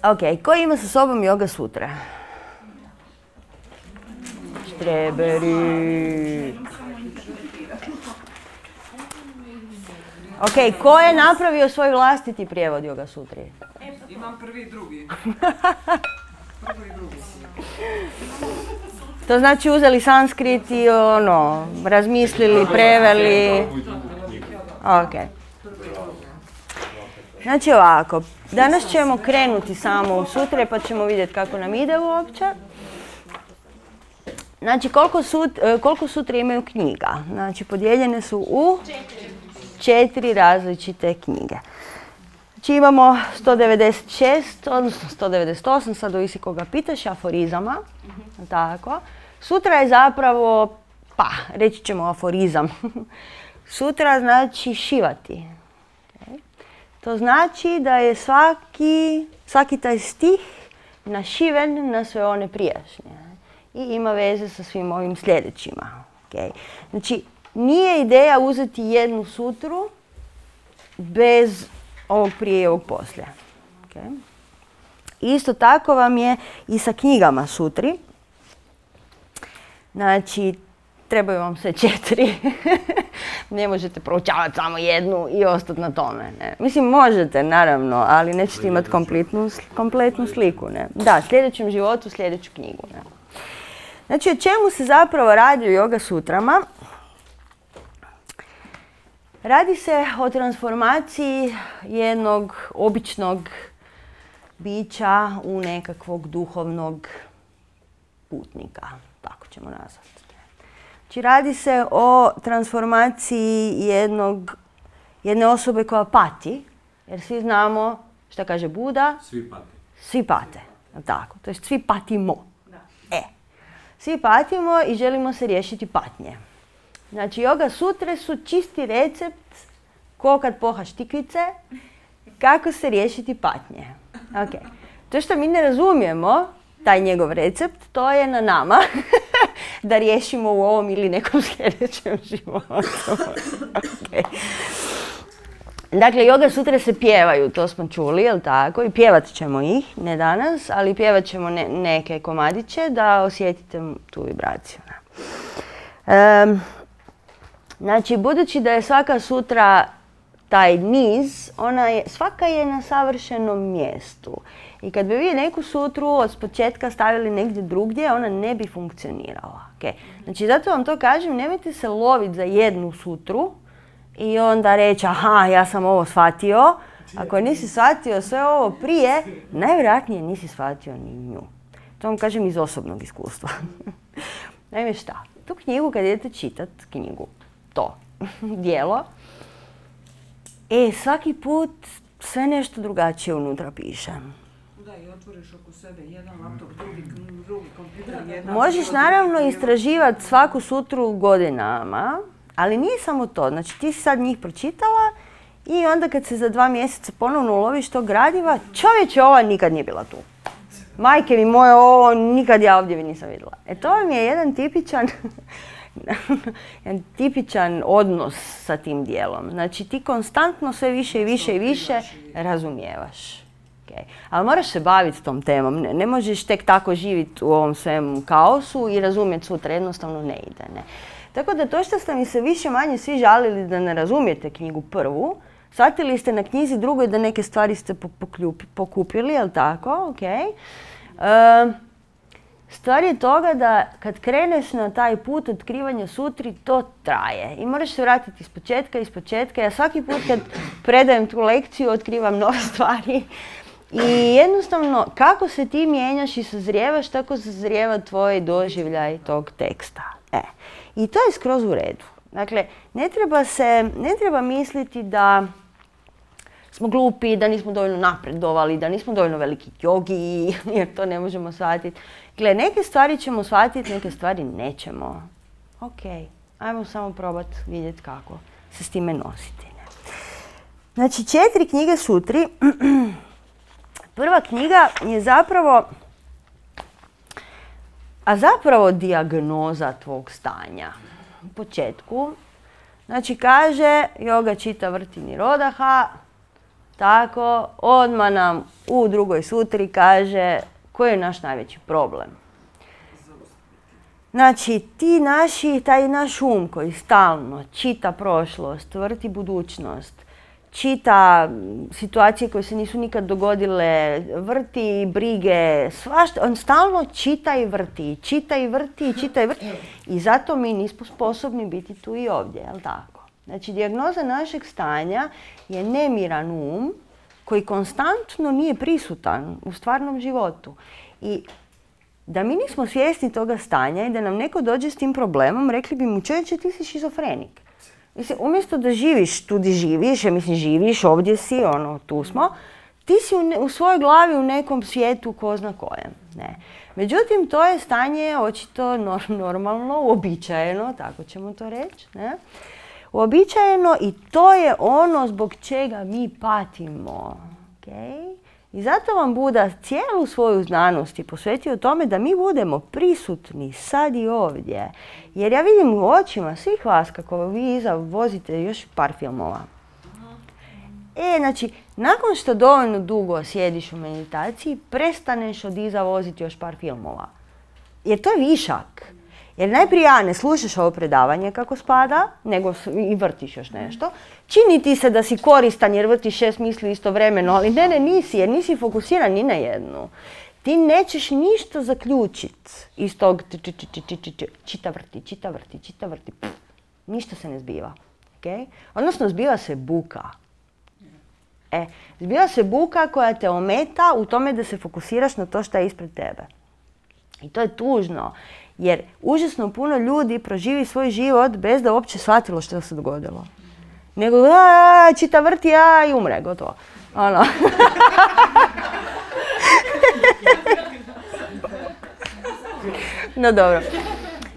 Ok, ko ima sa sobom Yoga Sutra? Štreberi. Ok, ko je napravio svoj vlastiti prijevod Yoga Sutri? Imam prvi i drugi. Prvi i drugi. To znači uzeli sanskrit i razmislili, preveli. Ok. Znači ovako, danas ćemo krenuti samo u sutre pa ćemo vidjeti kako nam ide uopće. Znači koliko sutre imaju knjiga? Znači podijeljene su u 4 različite knjige. Znači imamo 196, odnosno 198, sad ovisi koga pitaš, aforizama. Tako. Sutra je zapravo, reći ćemo aforizam. Sutra znači šivati. To znači da je svaki taj stih našiven na sve one prijašnje i ima veze sa svim ovim sljedećima. Okay. Znači, nije ideja uzeti jednu sutru bez ovog prije i ovog poslije. Okay. Isto tako vam je i sa knjigama sutri. Znači, trebaju vam sve 4. Ne možete proučavati samo jednu i ostati na tome. Ne. Mislim, možete, naravno, ali nećete imati kompletnu sliku. Ne. Da, sljedećem životu, sljedeću knjigu. Ne. Znači, o čemu se zapravo radi u Yoga Sutrama? Radi se o transformaciji jednog običnog bića u nekakvog duhovnog putnika, tako ćemo nazvati. Znači, radi se o transformaciji jedne osobe koja pati, jer svi znamo šta kaže Buda. Svi pate. Svi pate, tako. To jest svi patimo. Svi patimo i želimo se riješiti patnje. Znači, Yoga Sutre su čisti recept, ko kad pohaš tikvice, kako se riješiti patnje. Okay. To što mi ne razumijemo, taj njegov recept, to je na nama da riješimo u ovom ili nekom sljedećem životu. Okay. Dakle, Yoga Sutre se pjevaju, to smo čuli, jel tako? I pjevat ćemo ih, ne danas, ali pjevat ćemo neke komadiće da osjetite tu vibraciju. Znači, budući da je svaka sutra taj niz, svaka je na savršenom mjestu. I kad bi vi neku sutru od početka stavili negdje drugdje, ona ne bi funkcionirala. Okay. Znači, zato vam to kažem, nemojte se loviti za jednu sutru i onda reći, aha, ja sam ovo shvatio. Ako nisi shvatio sve ovo prije, najvjerojatnije nisi shvatio ni nju. To vam kažem iz osobnog iskustva. Naime šta, tu knjigu kad idete čitat, to dijelo, svaki put sve nešto drugačije unutra piše. Da, i otvoriš oko sebe jedan laptop, drugi kompjuter. Možeš naravno istraživati svaku sutru godinama, ali nije samo to. Znači, ti si sad njih pročitala i onda kad se za 2 mjeseca ponovno uloviš tog gradiva, čovječe, ova nikad nije bila tu. Majke mi moje, ovo nikad ja ovdje nisam vidjela. To vam je jedan tipičan odnos sa tim dijelom. Znači, ti konstantno sve više i više i više razumijevaš. Okay. Ali moraš se baviti tom temom. Ne možeš tek tako živjeti u ovom svemu kaosu i razumjeti sutra. Jednostavno ne ide. Ne. Tako da to što ste mi se više manje svi žalili da ne razumijete knjigu prvu, shvatili ste na knjizi drugoj da neke stvari ste pokupili, jel tako? Okay. Stvar je toga da kad kreneš na taj put otkrivanja sutri, to traje. I moraš se vratiti iz početka. Ja svaki put kad predajem tu lekciju, otkrivam nove stvari. I jednostavno, kako se ti mijenjaš i sazrijevaš, tako sazrijeva tvoj doživljaj tog teksta. I to je skroz u redu. Dakle, ne treba misliti da smo glupi, da nismo dovoljno napredovali, da nismo dovoljno veliki jogi, jer to ne možemo shvatiti. Gle, neke stvari ćemo shvatiti, neke stvari nećemo. Ok, ajmo samo probati vidjeti kako se s time nositi. Znači, 4 knjige sutri. Prva knjiga je zapravo dijagnoza tvog stanja. U početku Znači kaže, yoga čita vrti nirodaha, tako, odmah nam u drugoj sutri kaže koji je naš najveći problem. Znači, taj naš um koji stalno čita prošlost, vrti budućnost, čita situacije koje se nisu nikad dogodile, vrti brige, svašta, on stalno čita i vrti, čita i vrti, čita i vrti. I zato mi nismo sposobni biti tu i ovdje, jel tako? Znači, dijagnoza našeg stanja je nemiran um koji konstantno nije prisutan u stvarnom životu. I da mi nismo svjesni toga stanja i da nam neko dođe s tim problemom, rekli bi mu, čovječe, ti si šizofrenik. Mislim, umjesto da živiš tu gdje živiš, živiš, ovdje si, tu smo, ti si u svojoj glavi u nekom svijetu ko zna kojem. Ne. Međutim, to je stanje očito normalno, uobičajeno, tako ćemo to reći. Ne? Uobičajeno i to je ono zbog čega mi patimo. Okay? I zato vam Buda cijelu svoju znanost je posvetio tome da mi budemo prisutni sad i ovdje. Jer ja vidim u očima svih vas kako vi iza vozite još par filmova. Znači, nakon što dovoljno dugo sjediš u meditaciji, prestaneš od iza voziti još par filmova. Jer to je višak. Jer najprije ne slušaš ovo predavanje kako spada, nego i vrtiš još nešto. Čini ti se da si koristan jer vrtiš 6 misli istovremeno, ali ne, nisi, jer nisi fokusiran ni na jednu. Ti nećeš ništa zaključiti iz tog čita vrti. Ništa se ne zbiva. Okay? Odnosno, zbiva se buka. Zbiva se buka koja te ometa u tome da se fokusiraš na to što je ispred tebe. I to je tužno. Jer užasno puno ljudi proživi svoj život bez da uopće shvatilo što se dogodilo. Nego, čita vrti, i umre, gotovo. No dobro.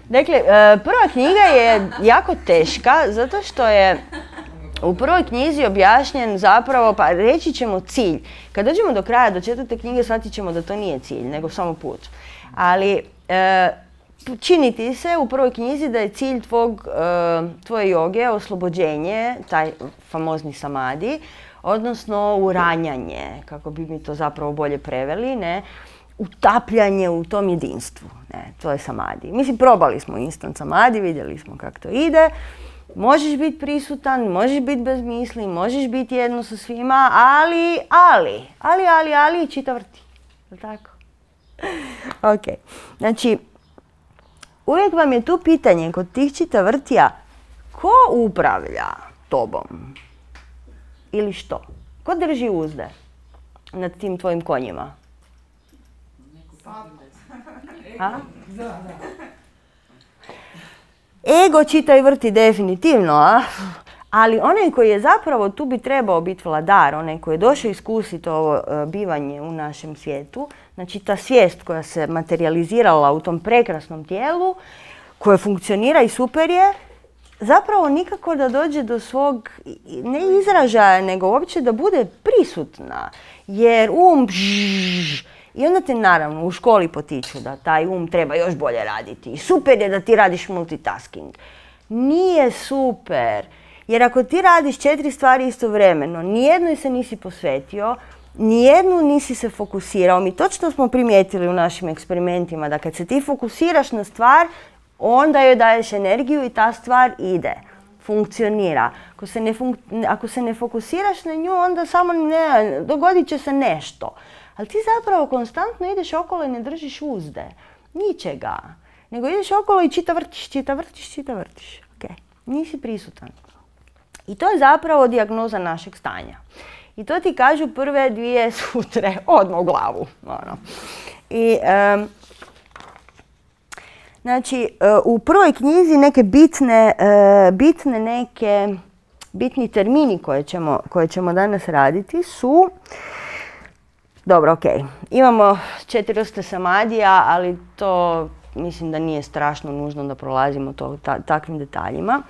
Dakle, prva knjiga je jako teška, zato što je u prvoj knjizi objašnjen zapravo, pa reći ćemo cilj. Kad dođemo do kraja, do 4. knjige, shvatit ćemo da to nije cilj, nego samo put. Ali čini ti se u prvoj knjizi da je cilj tvoje joge oslobođenje, taj famozni samadi, odnosno uranjanje, kako bi mi to zapravo bolje preveli, ne? Utapljanje u tom jedinstvu. Ne? To je samadi. Mislim, probali smo instant samadi, vidjeli smo kako to ide. Možeš biti prisutan, možeš biti bez misli, možeš biti jedno sa svima, ali čita vrti. Je li tako? Ok. Znači, uvijek vam je tu pitanje kod tih čita vrtija, ko upravlja tobom? Ili što? Ko drži uzde nad tim tvojim konjima? Ego čita i vrti definitivno, ali onaj koji je zapravo tu bi trebao biti vladar, onaj koji je došao iskusiti ovo bivanje u našem svijetu, znači ta svijest koja se materializirala u tom prekrasnom tijelu, koja funkcionira i super je, zapravo nikako da dođe do svog, ne izražaja, nego uopće da bude prisutna. Jer i onda te naravno u školi potiču da taj treba još bolje raditi. I super je da ti radiš multitasking. Nije super. Jer ako ti radiš 4 stvari istovremeno, nijednoj se nisi posvetio, nijednu nisi se fokusirao. Mi točno smo primijetili u našim eksperimentima da kad se ti fokusiraš na stvar, onda joj daješ energiju i ta stvar ide, funkcionira. Ako se ne fokusiraš na nju, onda samo dogodit će se nešto. Ali ti zapravo konstantno ideš okolo i ne držiš uzde. Ničega. Nego ideš okolo i čita vrtiš. Okay. Nisi prisutan. I to je zapravo dijagnoza našeg stanja. I to ti kažu prve 2 sutre odmah u glavu. I, znači, u prvoj knjizi neke bitni termini koje ćemo danas raditi su... Dobro, ok. Imamo 4 vrste samadija, ali to mislim da nije strašno nužno da prolazimo takvim detaljima.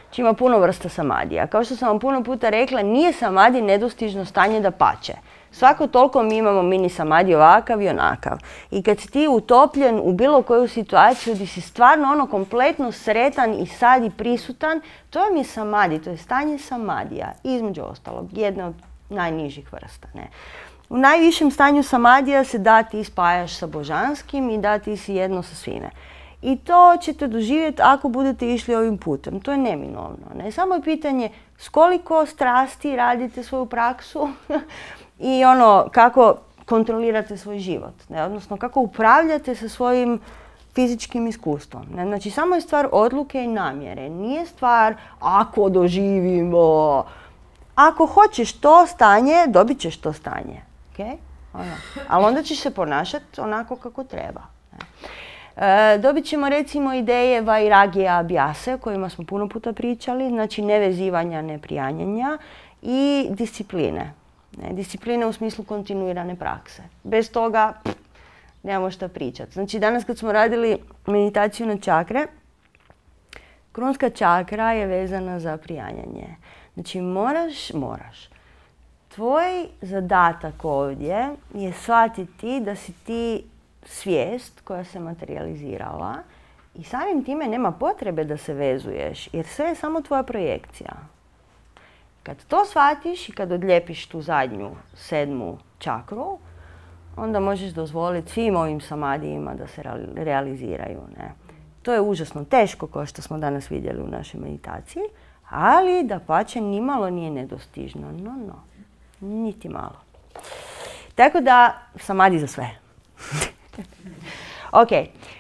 Znači ima puno vrsta samadija. Kao što sam vam puno puta rekla, nije samadi nedostižno stanje dapače. Svako toliko mi imamo mini samadhi ovakav i onakav. I kad si ti utopljen u bilo koju situaciju gdje si stvarno ono kompletno sretan i sad i prisutan, to vam je samadhi, to je stanje samadhija, između ostalog, jedna od najnižih vrsta. Ne? U najvišem stanju samadhija se da ti spajaš sa božanskim i da ti si jedno sa svime. I to ćete doživjeti ako budete išli ovim putem. To je neminovno. Ne? Samo je pitanje s koliko strasti radite svoju praksu i ono kako kontrolirate svoj život. Ne? Odnosno kako upravljate sa svojim fizičkim iskustvom. Ne? Znači samo je stvar odluke i namjere. Nije stvar ako doživimo. Ako hoćeš to stanje, dobit ćeš to stanje. Okay? Ali onda ćeš se ponašati onako kako treba. Dobit ćemo recimo ideje vairagija abhyase o kojima smo puno puta pričali, znači nevezivanja, neprijanjanja i discipline. Discipline u smislu kontinuirane prakse. Bez toga nemamo šta pričati. Znači danas kad smo radili meditaciju na čakre, krunska čakra je vezana za prijanjanje. Znači moraš. Tvoj zadatak ovdje je shvatiti da si ti svijest koja se materializirala i samim time nema potrebe da se vezuješ jer sve je samo tvoja projekcija. Kad to shvatiš i kad odljepiš tu zadnju, 7. čakru, onda možeš dozvoliti svim ovim samadijima da se realiziraju. Ne? To je užasno teško kao što smo danas vidjeli u našoj meditaciji, ali dapače nimalo nije nedostižno. Niti malo. Tako da, samadhi za sve. Ok,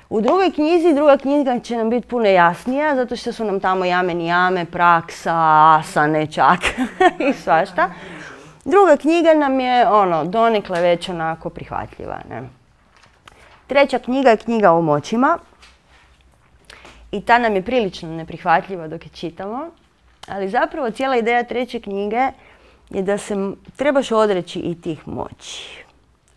u drugoj knjizi, druga knjiga će nam biti puno jasnija, zato što su nam tamo jame nijame, praksa, asane, čakre i svašta. Druga knjiga nam je donekle već onako prihvatljiva. Ne? Treća knjiga je knjiga o moćima i ta nam je prilično neprihvatljiva dok je čitamo, ali zapravo cijela ideja treće knjige je da se trebaš odreći i tih moći.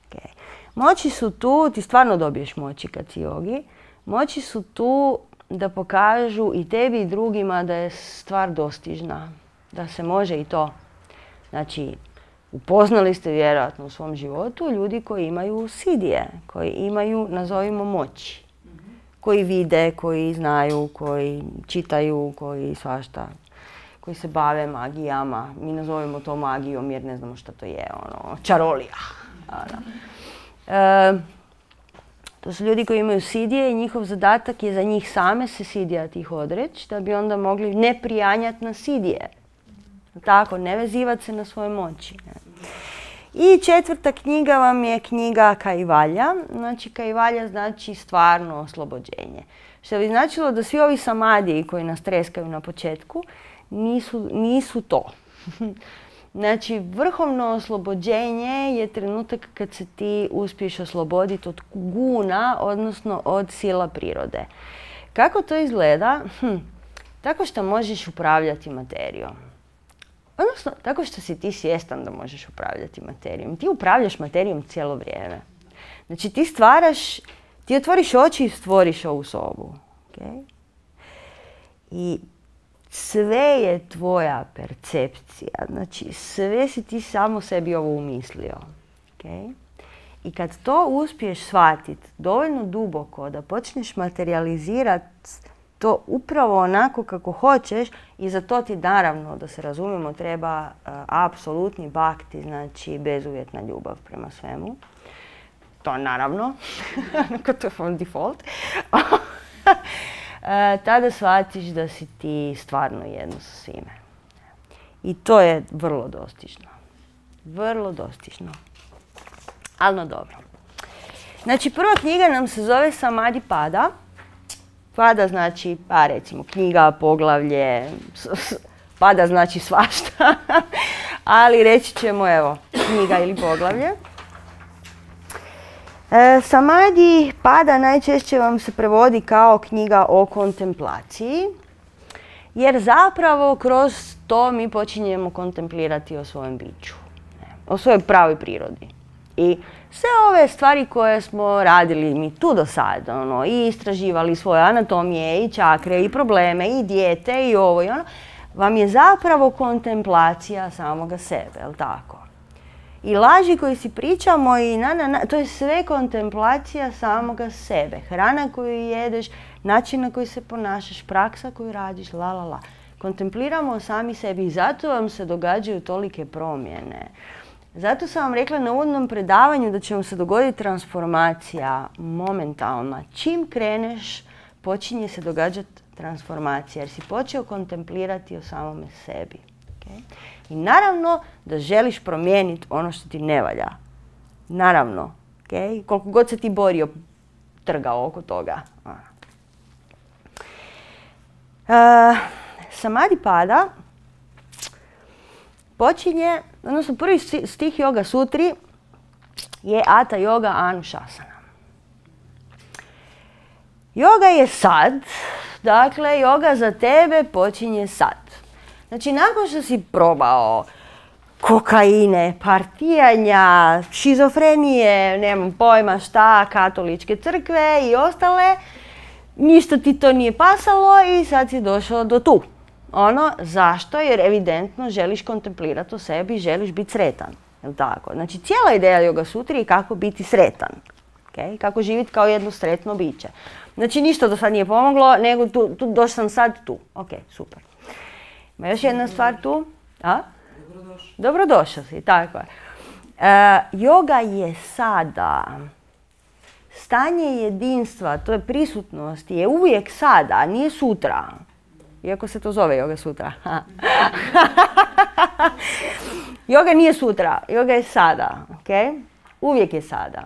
Okay. Moći su tu, ti stvarno dobiješ moći kad si jogi, moći su tu da pokažu i tebi i drugima da je stvar dostižna, da se može i to. Znači, upoznali ste vjerojatno u svom životu ljudi koji imaju sidije, koji imaju, nazovimo, moći. Koji vide, koji znaju, koji čitaju, koji svašta, koji se bave magijama. Mi nazovemo to magijom jer ne znamo što to je, čarolija. To su ljudi koji imaju sidije i njihov zadatak je za njih same se sidija tih odreći, da bi onda mogli ne prijanjati na sidije. Tako, ne vezivati se na svoje moći. I četvrta knjiga vam je knjiga Kaivalja. Znači, Kaivalja znači stvarno oslobođenje. Što bi značilo da svi ovi samadiji koji nas treskaju na početku nisu to. Znači, vrhovno oslobođenje je trenutak kad se ti uspiješ osloboditi od guna, odnosno od sila prirode. Kako to izgleda? Tako što možeš upravljati materijom. Odnosno, tako što si ti svjestan da možeš upravljati materijom. Ti upravljaš materijom cijelo vrijeme. Znači, ti otvoriš oči i stvoriš ovu sobu. Okay? I sve je tvoja percepcija. Znači, sve si ti samo sebi ovo umislio. Okay? I kad to uspiješ shvatiti dovoljno duboko da počneš materializirati to upravo onako kako hoćeš i za to ti naravno, da se razumijemo, treba apsolutni bhakti, znači bezuvjetna ljubav prema svemu. To naravno, to je on default. Tada shvatiš da si ti stvarno jedno sa svime. I to je vrlo dostižno. Vrlo dostižno. Ali no dobro. Znači, prva knjiga nam se zove Samadhi Pada. Pada znači, pa recimo, knjiga, poglavlje, pada znači svašta, ali reći ćemo, evo, knjiga ili poglavlje. Samadhi Pada najčešće vam se prevodi kao knjiga o kontemplaciji, jer zapravo kroz to mi počinjemo kontemplirati o svojem biću, o svojoj pravoj prirodi. I sve ove stvari koje smo radili mi tu do sada, i istraživali svoje anatomije, i čakre, i probleme, i dijete, i ovo i ono, vam je zapravo kontemplacija samoga sebe, jel tako? I laži koje si pričamo i to je sve kontemplacija samoga sebe. Hrana koju jedeš, način na koji se ponašaš, praksa koju radiš, Kontempliramo sami sebi i zato vam se događaju tolike promjene. Zato sam vam rekla na uvodnom predavanju da će vam se dogoditi transformacija momentalna. Čim kreneš, počinje se događati transformacija jer si počeo kontemplirati o samome sebi. Okay? I naravno da želiš promijeniti ono što ti ne valja. Naravno. Okay? Koliko god se ti borio, trgao oko toga. Samadhi pada počinje, odnosno prvi stih Yoga Sutri je Hatha Yoga Anušasana. Yoga je sad, dakle yoga za tebe počinje sad. Znači nakon što si probao kokaine, partijanja, šizofrenije, nemam pojma šta, katoličke crkve i ostale, ništa ti to nije pasalo i sad si došao do tu. Zašto? Jer evidentno želiš kontemplirati o sebi i želiš biti sretan. Jel' tako? Znači cijela ideja Yoga Sutri je kako biti sretan. Okay? Kako živjeti kao jedno sretno biće. Znači ništa do sad nije pomoglo, nego došao sam sad tu. Ok, super. Ima još jedna stvar tu. Dobrodošao si, tako je. Yoga je sada. Stanje jedinstva, to je prisutnost, je uvijek sada, nije sutra. Iako se to zove Yoga Sutra. Yoga nije sutra, yoga je sada. Okay? Uvijek je sada.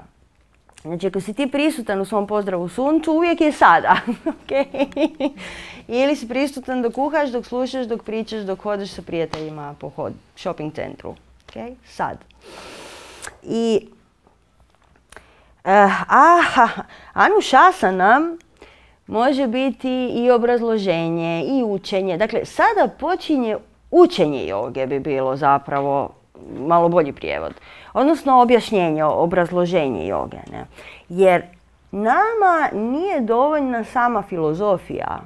Znači ako si ti prisutan u svom pozdravu suncu, uvijek je sada. Okay? Ili si prisutan dok kuhaš, dok slušaš, dok pričaš, dok hodeš sa prijateljima po shopping centru. Okay? Sad. I Anušasana može biti i obrazloženje i učenje. Dakle, sada počinje učenje joge bi bilo zapravo malo bolji prijevod. Odnosno objašnjenje, obrazloženje joge. Ne? Jer nama nije dovoljna sama filozofija.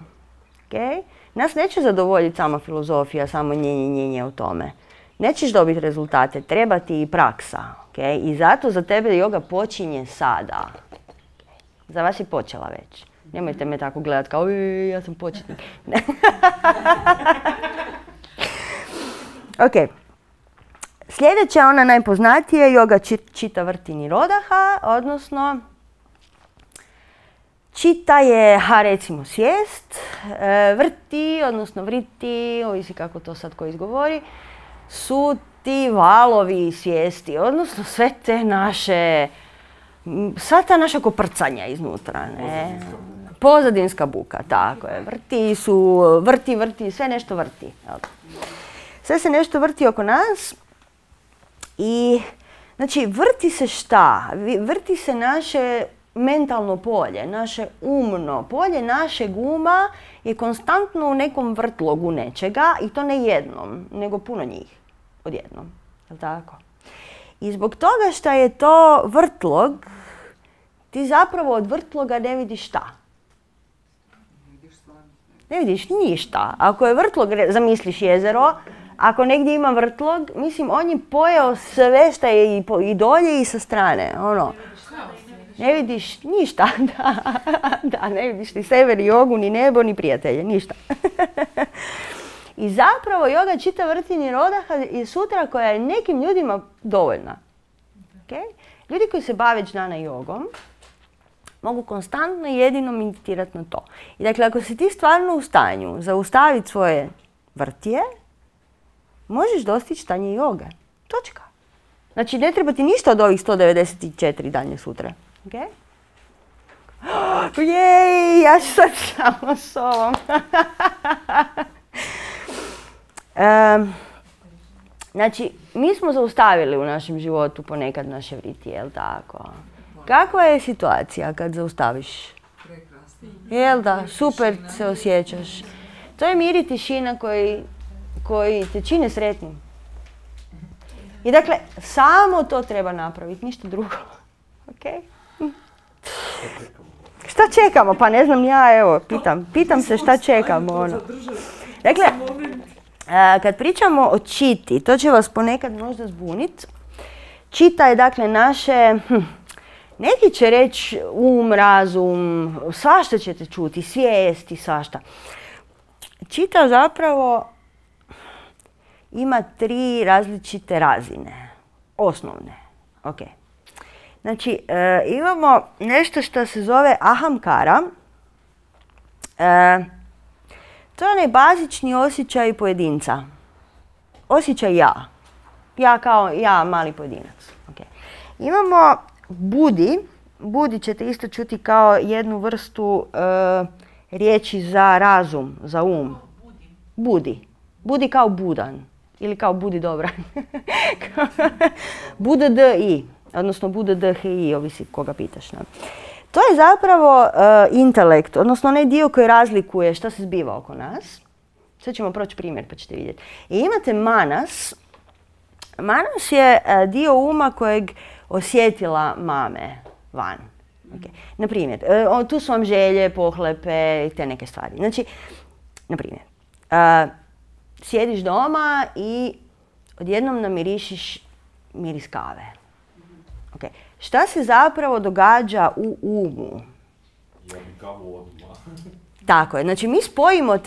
Okay? Nas neće zadovoljiti sama filozofija, samo njenje o tome. Nećeš dobiti rezultate, treba ti i praksa. Okay? I zato za tebe joga počinje sada. Za vas je počela već. Nemojte me tako gledati kao ja sam početnik. Ok. Sljedeća, ona najpoznatija, Yoga Chitta Vritti Nirodha, odnosno Chitta je, recimo, svijest, vrti, odnosno vriti, ovisi kako to sad ko izgovori, su ti valovi svijesti, odnosno sve te naše, sva ta naša koprcanja iznutra, ne? Pozadinska buka, tako je. Vrti, sve nešto vrti. Sve se nešto vrti oko nas i, znači, vrti se šta? Vrti se naše mentalno polje, naše umno polje, našeg uma je konstantno u nekom vrtlogu nečega i to ne jednom, nego puno njih odjednom. Jel' tako? I zbog toga što je to vrtlog, ti zapravo od vrtloga ne vidiš šta? Ne vidiš ništa. Ako je vrtlog, zamisliš jezero, ako negdje ima vrtlog, mislim, on je pojeo sve što je i dolje i sa strane. Ne vidiš ništa. Da, ne vidiš ni sever, ni jogu, ni nebo, ni prijatelje, ništa. I zapravo Yoga Chitta Vritti Nirodha je sutra koja je nekim ljudima dovoljna. Okay? Ljudi koji se bave džnana jogom mogu konstantno jedino meditirati na to. I dakle, ako si ti stvarno u stanju zaustaviti svoje vrtije, možeš dostići stanje joge. Točka. Znači, ne treba ti ništa od ovih 194 danje sutra. Okay? Jej, ja ću sad samo s ovom. Znači, mi smo zaustavili u našem životu ponekad naše vritije, jel' tako? Kakva je situacija kad zaustaviš? Jel' da, super se osjećaš. To je mir i tišina koji te čine sretnim. I dakle, samo to treba napraviti, ništa drugo. Okay? Šta čekamo? Pa ne znam ja, evo, pitam se šta čekamo. Dakle, kad pričamo o čiti, to će vas ponekad možda zbuniti. čita je dakle naše, neki će reći razum, svašta ćete čuti, svijesti, svašta. Čita zapravo ima 3 različite razine, osnovne. Okay. Znači, imamo nešto što se zove ahamkara. To je onaj bazični osjećaj pojedinca. Osjećaj ja. Ja kao ja, mali pojedinac. Okay. Imamo budi. Budi ćete isto čuti kao jednu vrstu riječi za razum, za um. Budi. Budi kao budan. Ili kao budi dobran. Buda d-i. Odnosno Buda d-h-i, ovisi koga pitaš. Ne? To je zapravo intelekt, odnosno onaj dio koji razlikuje što se zbiva oko nas. Sad ćemo proći primjer pa ćete vidjeti. I imate manas. Manas je dio uma kojeg osjetila mame van. Okay. Naprimjer, tu su vam želje, pohlepe i te neke stvari. Znači, naprimjer, sjediš doma i odjednom namirišiš miris kave. Okay. Šta se zapravo događa u umu? Ja bi kavu odmah. Tako je. Znači, mi spojimo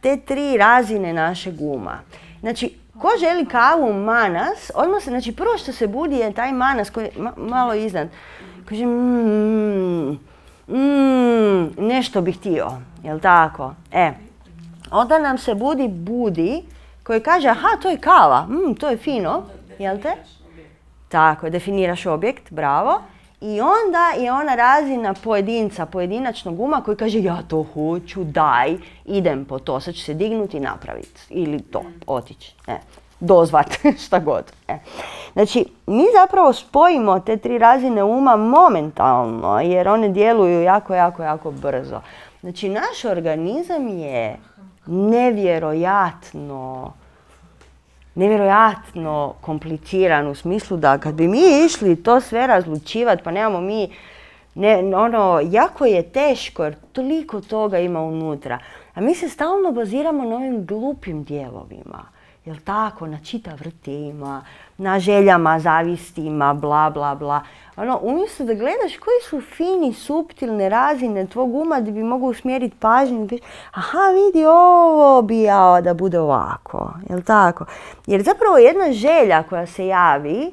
te tri razine našeg uma. Znači, ko želi kavu manas, odmah se, znači prvo što se budi je taj manas koji je malo iznad. Kaže, nešto bih htio, jel tako? Onda nam se budi koji kaže, aha, to je kava, to je fino, jel te? Tako je, definiraš objekt, bravo. I onda je ona razina pojedinca, pojedinačnog uma koji kaže ja to hoću, daj, idem po to, sad ću se dignuti i napraviti. Ili to, otići, dozvat, šta god. Znači, mi zapravo spojimo te 3 razine uma momentalno jer one djeluju jako brzo. Znači, naš organizam je nevjerojatno kompliciran u smislu da kad bi mi išli to sve razlučivati, pa nemamo mi, jako je teško jer toliko toga ima unutra. A mi se stalno baziramo na ovim glupim dijelovima. Jel tako? Na čitavrtima, na željama, zavistima, bla bla bla. Umjesto da gledaš koji su fini, suptilne razine tvog uma da bi mogao usmjeriti pažnju. Aha, vidi, ovo bi ja da bude ovako. Jel tako? Jer zapravo jedna želja koja se javi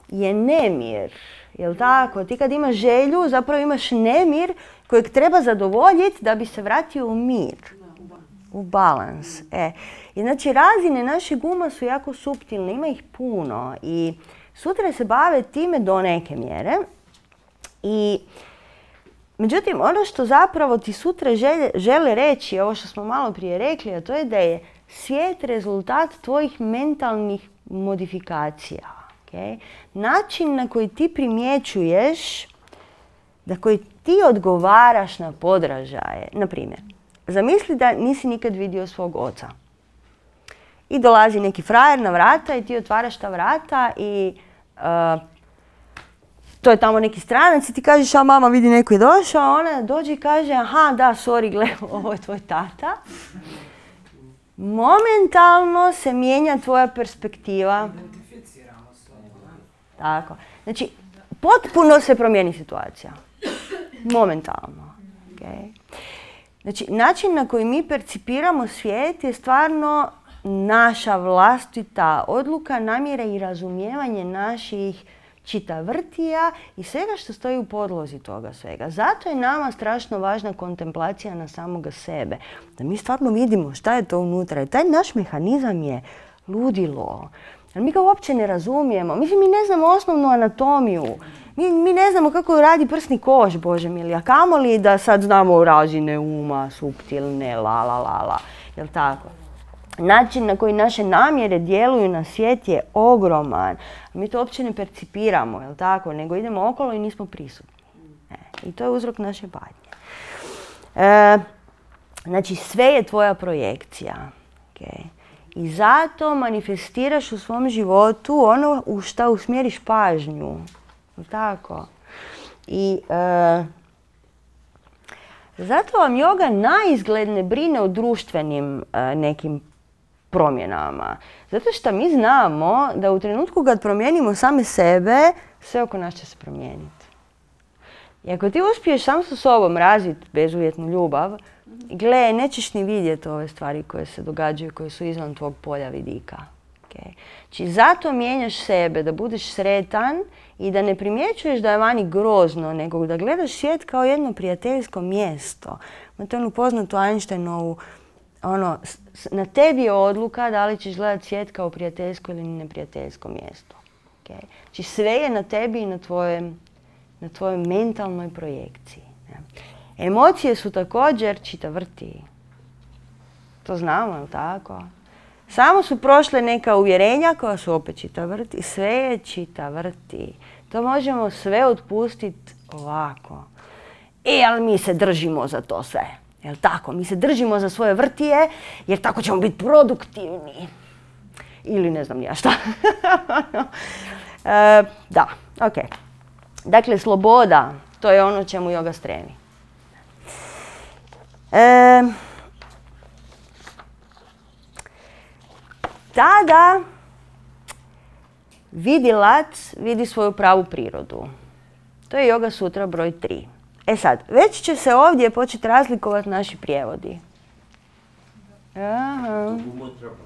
je nemir. Jel tako? Ti kad imaš želju, zapravo imaš nemir kojeg treba zadovoljiti da bi se vratio u mir. U balans. I znači razine našeg uma su jako suptilne, ima ih puno i sutra se bave time do neke mjere. Međutim, ono što zapravo ti sutra žele reći, ovo što smo malo prije rekli, a to je da je svijet rezultat tvojih mentalnih modifikacija. Okay? Način na koji ti primjećuješ, na koji ti odgovaraš na podražaje. Na primjer, zamisli da nisi nikad vidio svog oca. I dolazi neki frajer na vrata i ti otvaraš ta vrata i to je tamo neki stranac i ti kažeš, a mama vidi neko je došao, ona dođe i kaže, aha, da, sorry, gle, ovo je tvoj tata. Momentalno se mijenja tvoja perspektiva. Tako. Znači, potpuno se promijeni situacija. Momentalno. Okay. Znači, način na koji mi percipiramo svijet je stvarno naša vlastita odluka, namjera i razumijevanje naših čitavrtija i svega što stoji u podlozi toga svega. Zato je nama strašno važna kontemplacija na samoga sebe. Da mi stvarno vidimo šta je to unutra. I taj naš mehanizam je ludilo. Ali mi ga uopće ne razumijemo. Mislim, mi ne znamo osnovnu anatomiju. Mi ne znamo kako radi prsni koš, Bože mili. A kamoli da sad znamo razine uma, suptilne, la. Jel tako? Način na koji naše namjere djeluju na svijet je ogroman. Mi to uopće ne percipiramo, jel tako? Nego idemo okolo i nismo prisutni. I to je uzrok naše patnje. Znači, sve je tvoja projekcija. Okay? I zato manifestiraš u svom životu ono u šta usmjeriš pažnju. Jel tako? I zato vam joga naizgled ne brine o društvenim nekim promjenama. Zato što mi znamo da u trenutku kad promijenimo same sebe, sve oko nas će se promijeniti. I ako ti uspiješ sam sa sobom razviti bezuvjetnu ljubav, gle, nećeš ni vidjeti ove stvari koje se događaju, koje su izvan tvog polja vidika. Okay. Znači, zato mijenjaš sebe, da budeš sretan i da ne primjećuješ da je vani grozno, nego da gledaš svijet kao jedno prijateljsko mjesto. To je onu poznatu Einsteinovu, na tebi je odluka da li ćeš gledati svijet kao prijateljsko ili neprijateljsko mjesto. Okay. Znači, sve je na tebi i na tvojoj mentalnoj projekciji. Emocije su također čita vrti. To znamo, je li tako? Samo su prošle neka uvjerenja koja su opet čita vrti. Sve je čita vrti. To možemo sve otpustiti ovako. Ali mi se držimo za to sve. Jel tako? Mi se držimo za svoje vrtije jer tako ćemo biti produktivni. Ili ne znam ni ja šta. Da, ok. Dakle, sloboda, to je ono čemu joga stremi. Tada vidilac vidi svoju pravu prirodu. To je Yoga Sutra broj 3. Sad, već će se ovdje početi razlikovati naši prijevodi. Aha. Dugo je trebalo.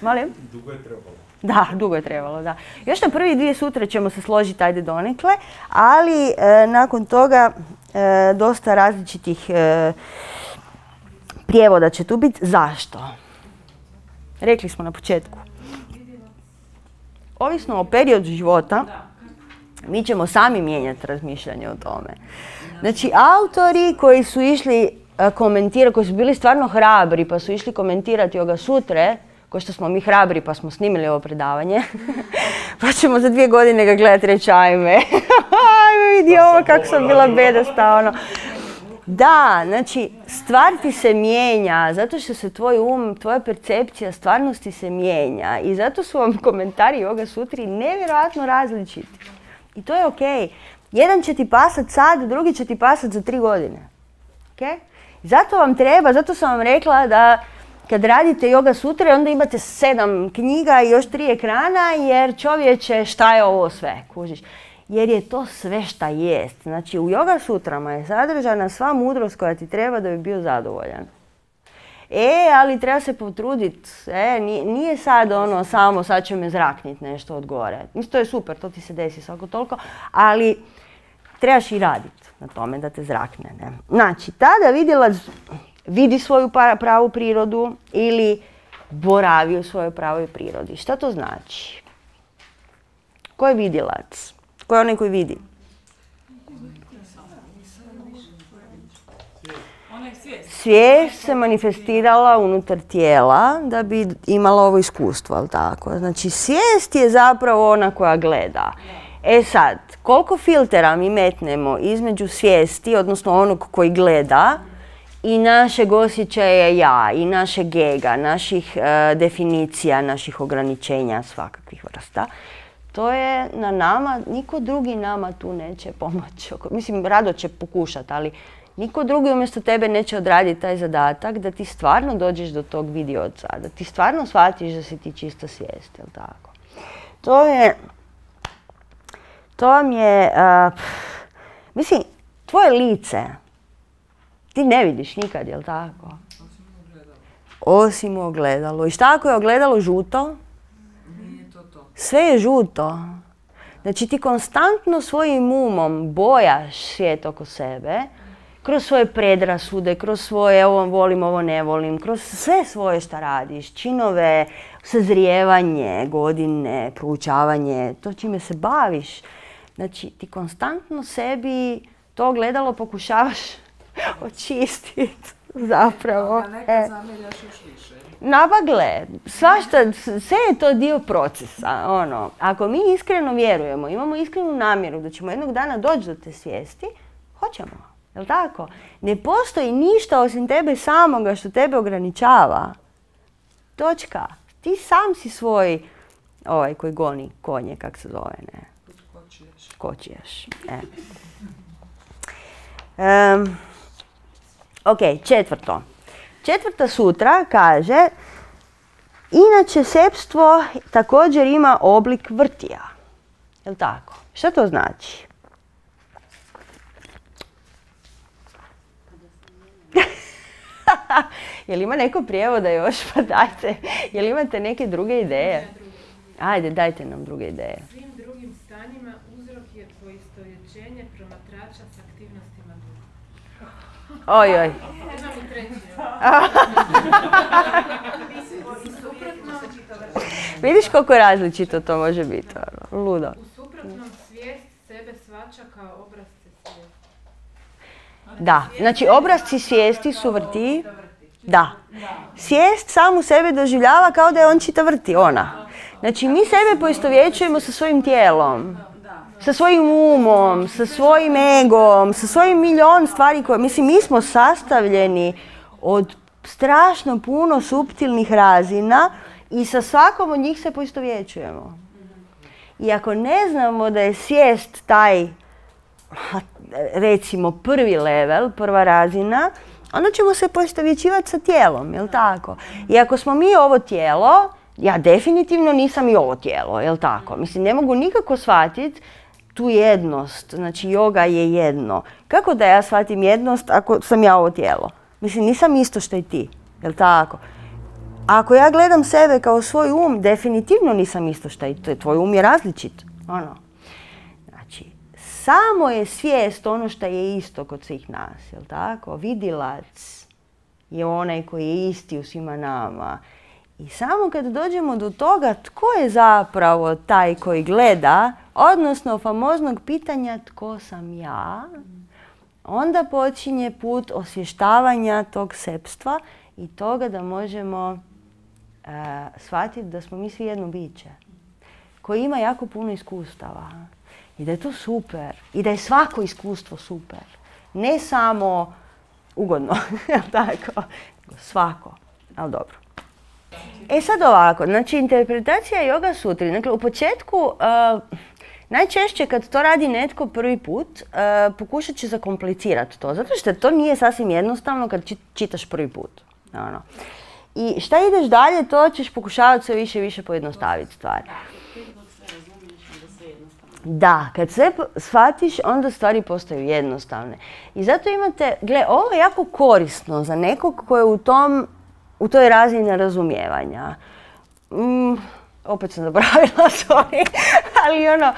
Molim? Dugo je trebalo. Da, dugo je trebalo, da. Još na prvi 2 sutre ćemo se složiti, ajde donekle, ali nakon toga dosta različitih prijevoda će tu biti. Zašto? Rekli smo na početku. Ovisno o periodu života, mi ćemo sami mijenjati razmišljanje o tome. Znači, autori koji su išli komentirati, koji su bili stvarno hrabri pa su išli komentirati Yoga Sutre, ko što smo mi hrabri pa smo snimili ovo predavanje, pa ćemo za 2 godine ga gledati i reći ajme vidi ovo kako sam bila bedasta, Da, znači, stvar ti se mijenja, zato što se tvoj tvoja percepcija stvarnosti se mijenja i zato su vam komentari Yoga Sutri nevjerojatno različiti. I to je okej. Jedan će ti pasat sad, drugi će ti pasat za 3 godine. Okay? Zato vam treba, zato sam vam rekla da kad radite Yoga Sutre, onda imate 7 knjiga i još 3 ekrana, jer čovječe, šta je ovo sve, kužiš? Jer je to sve šta jest. Znači, u Yoga Sutrama je sadržana sva mudrost koja ti treba da bi bio zadovoljan. Ali treba se potruditi. Nije sad samo sad će me zrakniti nešto od gore. To je super, to ti se desi svako toliko, ali trebaš i raditi na tome da te zrakne. Ne? Znači, tada vidilac vidi svoju pravu prirodu ili boravi u svojoj pravoj prirodi. Šta to znači? Ko je vidilac? Ko je onaj koji vidi? Svijest se manifestirala unutar tijela da bi imala ovo iskustvo, ali tako? Znači, svijest je zapravo ona koja gleda. Sad, koliko filtera mi metnemo između svijesti, odnosno onog koji gleda, i našeg osjećaja ja, i našeg ega, naših definicija, naših ograničenja svakakvih vrsta, to je na nama, niko drugi nama tu neće pomoći. Mislim, rado će pokušati, ali niko drugi umjesto tebe neće odraditi taj zadatak da ti stvarno dođeš do tog vidioca, da ti stvarno shvatiš da si ti čista svijest, jel tako? To vam je, mislim, tvoje lice ti ne vidiš nikad, jel tako? Osim u ogledalu. I šta ako je ogledalo žuto? Nije to to. Sve je žuto. Znači ti konstantno svojim umom bojaš svijet oko sebe, kroz svoje predrasude, kroz svoje ovo volim, ovo ne volim, kroz sve svoje šta radiš, činove, sazrijevanje, godine, proučavanje, to čime se baviš. Znači ti konstantno sebi to ogledalo pokušavaš očistiti zapravo. A nekad zamiljaš još više. Gle, svašta, sve je to dio procesa. Ako mi iskreno vjerujemo, imamo iskrenu namjeru da ćemo jednog dana doći do te svijesti, hoćemo. Jel' tako? Ne postoji ništa osim tebe samoga što tebe ograničava. Točka. Ti sam si svoj, koji goni konje, kak se zove, ne? Kočiješ. Ok, 4. 4. sutra kaže Inače, sepstvo također ima oblik vrtija. Jel' tako? Šta to znači? Jel' ima neko prijevoda još? Pa dajte. Jel' imate neke druge ideje? Ajde, dajte nam druge ideje. Svim drugim stanjima uzrok je poistovjećenje promatrača s aktivnostima duha. Ojoj. Imam i treći. Vidiš koliko različito to može biti. Ludo. U suprotnom svijest sebe shvaća kao obrazce svijesti. Da, znači obrazci svijesti su vrti. Da. Svijest samu sebe doživljava kao da je on čita vrti, ona. Znači mi sebe poistovjećujemo sa svojim tijelom, sa svojim umom, sa svojim egom, sa svojim milion stvari koje, mislim, mi smo sastavljeni od strašno puno suptilnih razina i sa svakom od njih se poistovjećujemo. I ako ne znamo da je svijest taj, recimo, prvi level, prva razina, onda ćemo se poistovjećivati sa tijelom, jel' tako? I ako smo mi ovo tijelo, ja definitivno nisam i ovo tijelo, jel' tako? Mislim, ne mogu nikako shvatiti tu jednost, znači yoga je jedno. Kako da ja shvatim jednost ako sam ja ovo tijelo? Mislim, nisam isto što i ti, jel' tako? Ako ja gledam sebe kao svoj um, definitivno nisam isto što i ti. Tvoj um je različit. Ono. Znači, samo je svijest ono što je isto kod svih nas, jel' tako? Vidilac je onaj koji je isti u svima nama. I samo kad dođemo do toga tko je zapravo taj koji gleda, odnosno famoznog pitanja tko sam ja, onda počinje put osvještavanja tog sepstva i toga da možemo shvatiti da smo mi svi jedno biće koji ima jako puno iskustava i da je to super i da je svako iskustvo super. Ne samo ugodno, tako, svako, ali dobro. E sad ovako, znači interpretacija Yoga Sutri. Dakle, u početku, najčešće kad to radi netko prvi put, pokušat će zakomplicirati to, zato što to nije sasvim jednostavno kad čitaš prvi put. Ono. I šta ideš dalje, to ćeš pokušavati sve više i više pojednostaviti stvari. Da, kad sve shvatiš, onda stvari postaju jednostavne. I zato imate, gle, ovo je jako korisno za nekog ko je u toj razini razumijevanja. Opet sam zaboravila, sorry, ali ono,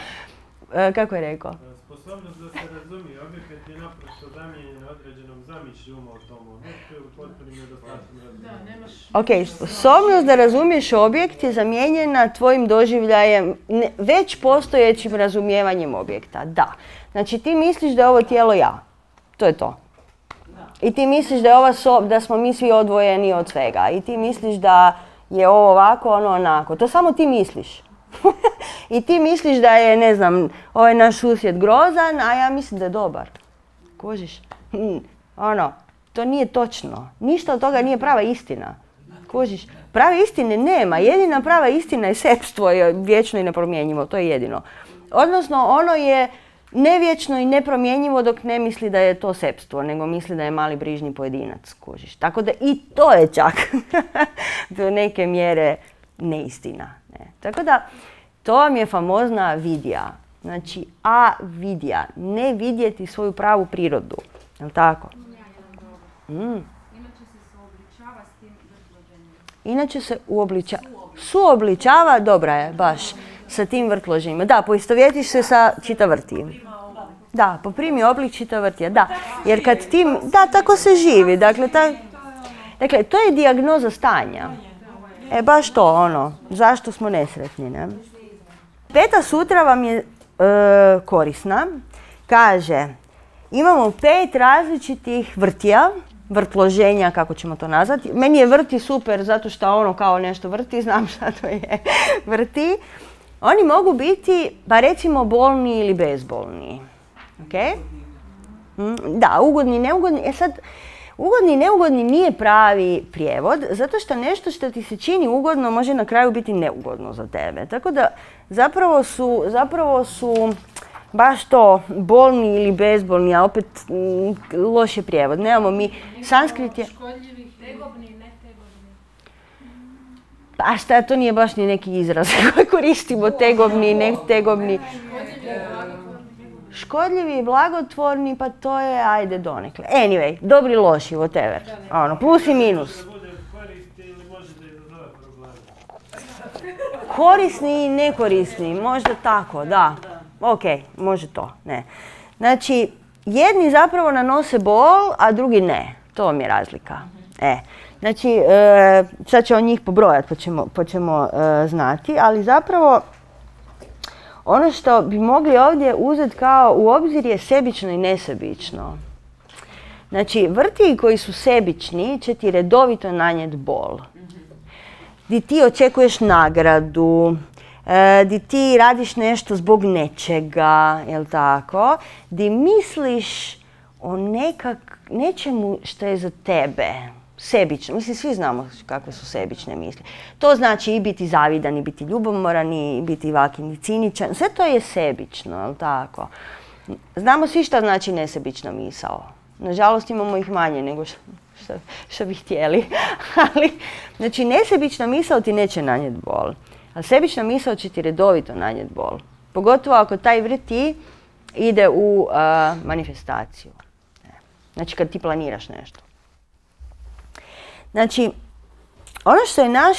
kako je rekao? Sposobnost da se razumije objekat je naprosto zamijenjena određenom zamišlju uma o tomu. To je u potpunim nedostatkom razumijevanja. Ok, sposobnost da razumiješ objekt je zamijenjena tvojim doživljajem, već postojećim razumijevanjem objekta. Da. Znači ti misliš da je ovo tijelo ja. To je to. I ti misliš da je da smo mi svi odvojeni od svega. I ti misliš da je ovo ovako, ono onako. To samo ti misliš. I ti misliš da je, ne znam, ovaj naš susjed grozan, a ja mislim da je dobar. Kužiš? Ono, to nije točno. Ništa od toga nije prava istina. Kužiš? Prave istine nema. Jedina prava istina je sepstvo, je vječno i nepromjenjivo. To je jedino. Odnosno, ono je nevječno i nepromjenjivo dok ne misli da je to sepstvo, nego misli da je mali brižni pojedinac, kužiš. Tako da i to je čak do neke mjere neistina. Ne. Tako da, to vam je famozna vidja. Znači, avidja, ne vidjeti svoju pravu prirodu. Je li tako? Inače se suobličava, dobra je, baš, sa tim vrtloženjima. Da, poistovjetiš se sa čitavrtijem. Da, poprimi oblik čitavrtija, da. Jer kad tim, da, tako se živi. Dakle, to je dijagnoza stanja. Baš to, ono, zašto smo nesretni, ne? Peta sutra vam je korisna. Kaže, imamo 5 različitih vrtija, vrtloženja, kako ćemo to nazvati. Meni je vrti super zato što ono kao nešto vrti, znam šta to je vrti. Oni mogu biti, pa recimo, bolni ili bezbolni. Okay? Da, ugodni, neugodni. Sad, ugodni i neugodni nije pravi prijevod, zato što nešto što ti se čini ugodno može na kraju biti neugodno za tebe. Tako da zapravo su baš to bolni ili bezbolni, a opet loš je prijevod. Nemamo mi, sanskrit je... Škodljivi, tegobni i netegobni. Pa šta, to nije baš ni neki izraz koji koristimo, tegobni, netegobni. Škodljivi i blagotvorni, pa to je, ajde, donekle. Anyway, dobri, loši, whatever. Ono, plus i minus. Korisni i nekorisni, možda tako, da. Ok, može to, ne. Znači, jedni zapravo nanose bol, a drugi ne. To vam je razlika. Znači, sad ćemo njih pobrojati pa ćemo znati, ali zapravo ono što bi mogli ovdje uzeti kao u obzir je sebično i nesebično. Znači, vrti koji su sebični će ti redovito nanijeti bol. Di ti očekuješ nagradu, di ti radiš nešto zbog nečega, jel tako? Di misliš o nečemu što je za tebe. Sebično. Mislim, svi znamo kakve su sebične misli. To znači i biti zavidan, i biti ljubomoran, i biti vakin i ciničan. Sve to je sebično, jel tako? Znamo svi šta znači nesebična misao. Nažalost, imamo ih manje nego što bi htjeli. Ali, znači, nesebična misao ti neće nanijeti bol. A sebična misao će ti redovito nanijeti bol. Pogotovo ako taj vrti ide u manifestaciju. Znači, kad ti planiraš nešto. Znači, ono što je naš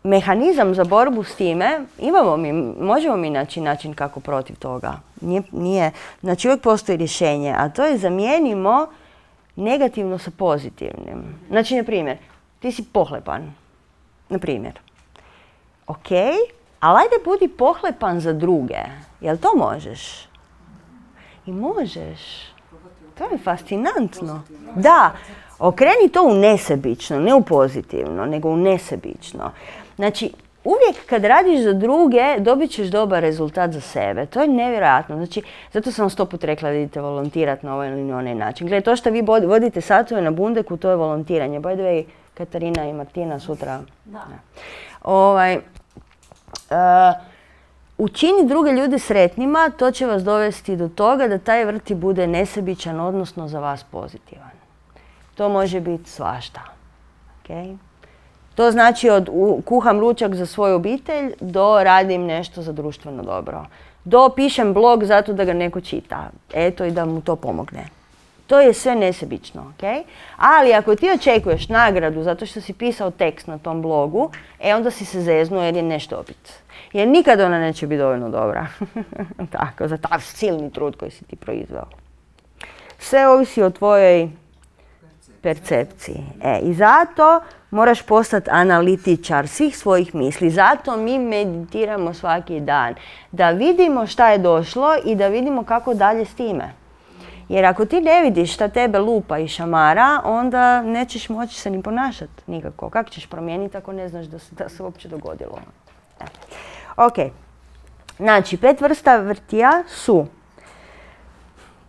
mehanizam za borbu s time, možemo mi naći način kako protiv toga. Znači, uvijek postoji rješenje, a to je zamijenimo negativno sa pozitivnim. Znači, na primjer, ti si pohlepan. Na primjer. Ok, ali ajde budi pohlepan za druge. Jel to možeš? I možeš. To je fascinantno. Da. Okreni to u nesebično, ne u pozitivno, nego u nesebično. Znači, uvijek kad radiš za druge, dobit ćeš dobar rezultat za sebe. To je nevjerojatno. Znači, zato sam vam 100 put rekla da idete volontirati na ovaj ili onaj način. Gledaj, to što vi vodite satove na Bundeku, to je volontiranje. By the way, Katarina i Martina sutra. Učini druge ljude sretnima, to će vas dovesti do toga da taj vrti bude nesebičan, odnosno za vas pozitivan. To može biti svašta. Okay? To znači od kuham ručak za svoju obitelj do radim nešto za društveno dobro. Do pišem blog zato da ga neko čita. Eto i da mu to pomogne. To je sve nesebično. Okay? Ali ako ti očekuješ nagradu zato što si pisao tekst na tom blogu, onda si se zeznuo jer je nešto dobit. Jer nikad ona neće biti dovoljno dobra. Tako, za taj silni trud koji si ti proizveo. Sve ovisi o tvojoj percepciji. I zato moraš postati analitičar svih svojih misli. Zato mi meditiramo svaki dan. Da vidimo šta je došlo i da vidimo kako dalje s time. Jer ako ti ne vidiš šta tebe lupa i šamara, onda nećeš moći se ni ponašati nikako. Kako ćeš promijeniti ako ne znaš da se uopće dogodilo? Ok. Znači, 5 vrsta vrtija su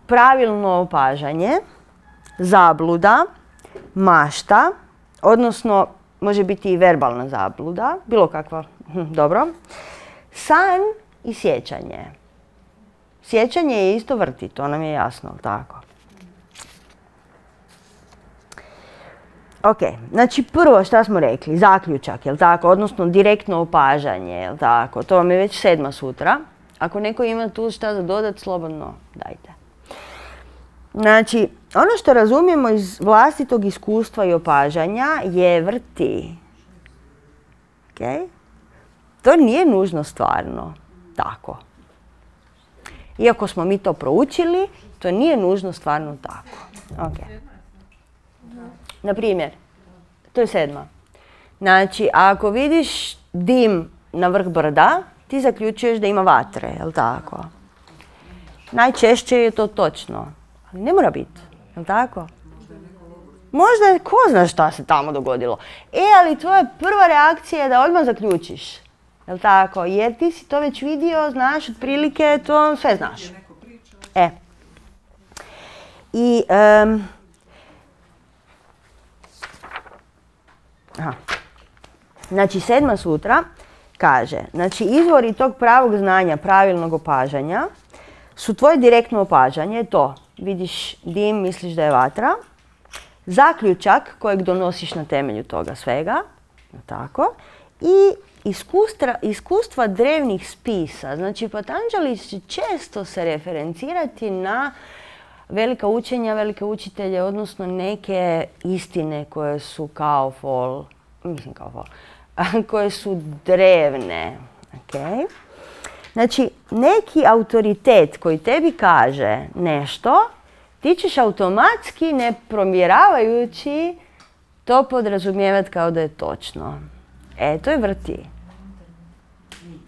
pravilno opažanje, zabluda, mašta, odnosno može biti i verbalna zabluda, bilo kakva, dobro, san i sjećanje. Sjećanje je isto vrti, to nam je jasno, tako. Ok, znači prvo šta smo rekli, zaključak, jel tako, odnosno direktno opažanje, jel tako, to vam je već 7. sutra. Ako neko ima tu šta za dodat, slobodno dajte. Znači, ono što razumijemo iz vlastitog iskustva i opažanja je vrti. Okay? To nije nužno stvarno tako. Iako smo mi to proučili, to nije nužno stvarno tako. Okay. Na primjer, to je 7. Znači, ako vidiš dim na vrh brda, ti zaključuješ da ima vatre, jel tako? Najčešće je to točno. Ali ne mora biti, jel tako? Možda ko zna šta se tamo dogodilo. Ali tvoja prva reakcija je da odmah zaključiš. Jel tako? Jer ti si to već vidio, znaš, otprilike, to sve znaš. I... Znači, 7. sutra kaže, znači, izvori tog pravog znanja, pravilnog opažanja, su tvoje direktno opažanje, to vidiš dim, misliš da je vatra, zaključak kojeg donosiš na temelju toga svega Tako? I iskustva drevnih spisa. Znači, Patanjali će često se referencirati na velika učenja, velike učitelje, odnosno neke istine koje su koje su drevne. Okay? Znači, neki autoritet koji tebi kaže nešto, ti ćeš automatski, ne provjeravajući, to podrazumijevati kao da je točno. To je vrti.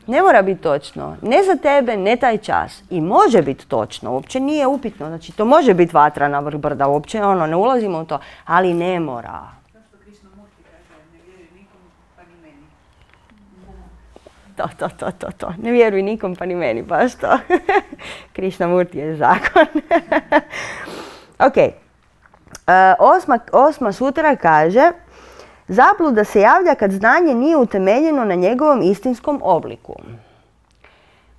Ne mora biti točno. Ne za tebe, ne taj čas. I može biti točno, uopće nije upitno. Znači, to može biti vatra na vrh brda, uopće ne ulazimo u to, ali ne mora. Zašto Krishnamurti kaže, ne vjeruj nikom, pa ni meni? To. Ne vjeruj nikom, pa ni meni, baš to. Krishnamurti je zakon. Ok. Osma sutra kaže: zabluda se javlja kad znanje nije utemeljeno na njegovom istinskom obliku.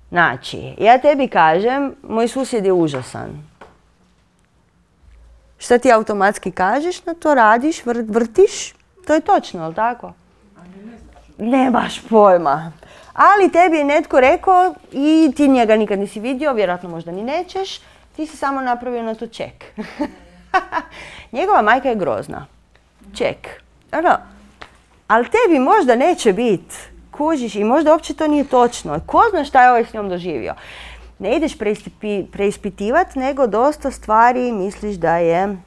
Znači, ja tebi kažem, moj susjed je užasan. Šta ti automatski kažeš? Na to radiš, vrtiš, to je točno, je li tako? Nemaš pojma. Ali tebi je netko rekao i ti njega nikad nisi vidio, vjerojatno možda ni nećeš, ti si samo napravio na to ček. Njegova majka je grozna. Ček. Ali tebi možda neće biti. Kužiš i možda uopće to nije točno. Ko zna šta je ovaj s njom doživio? Ne ideš preispitivati, nego dosta stvari misliš da je...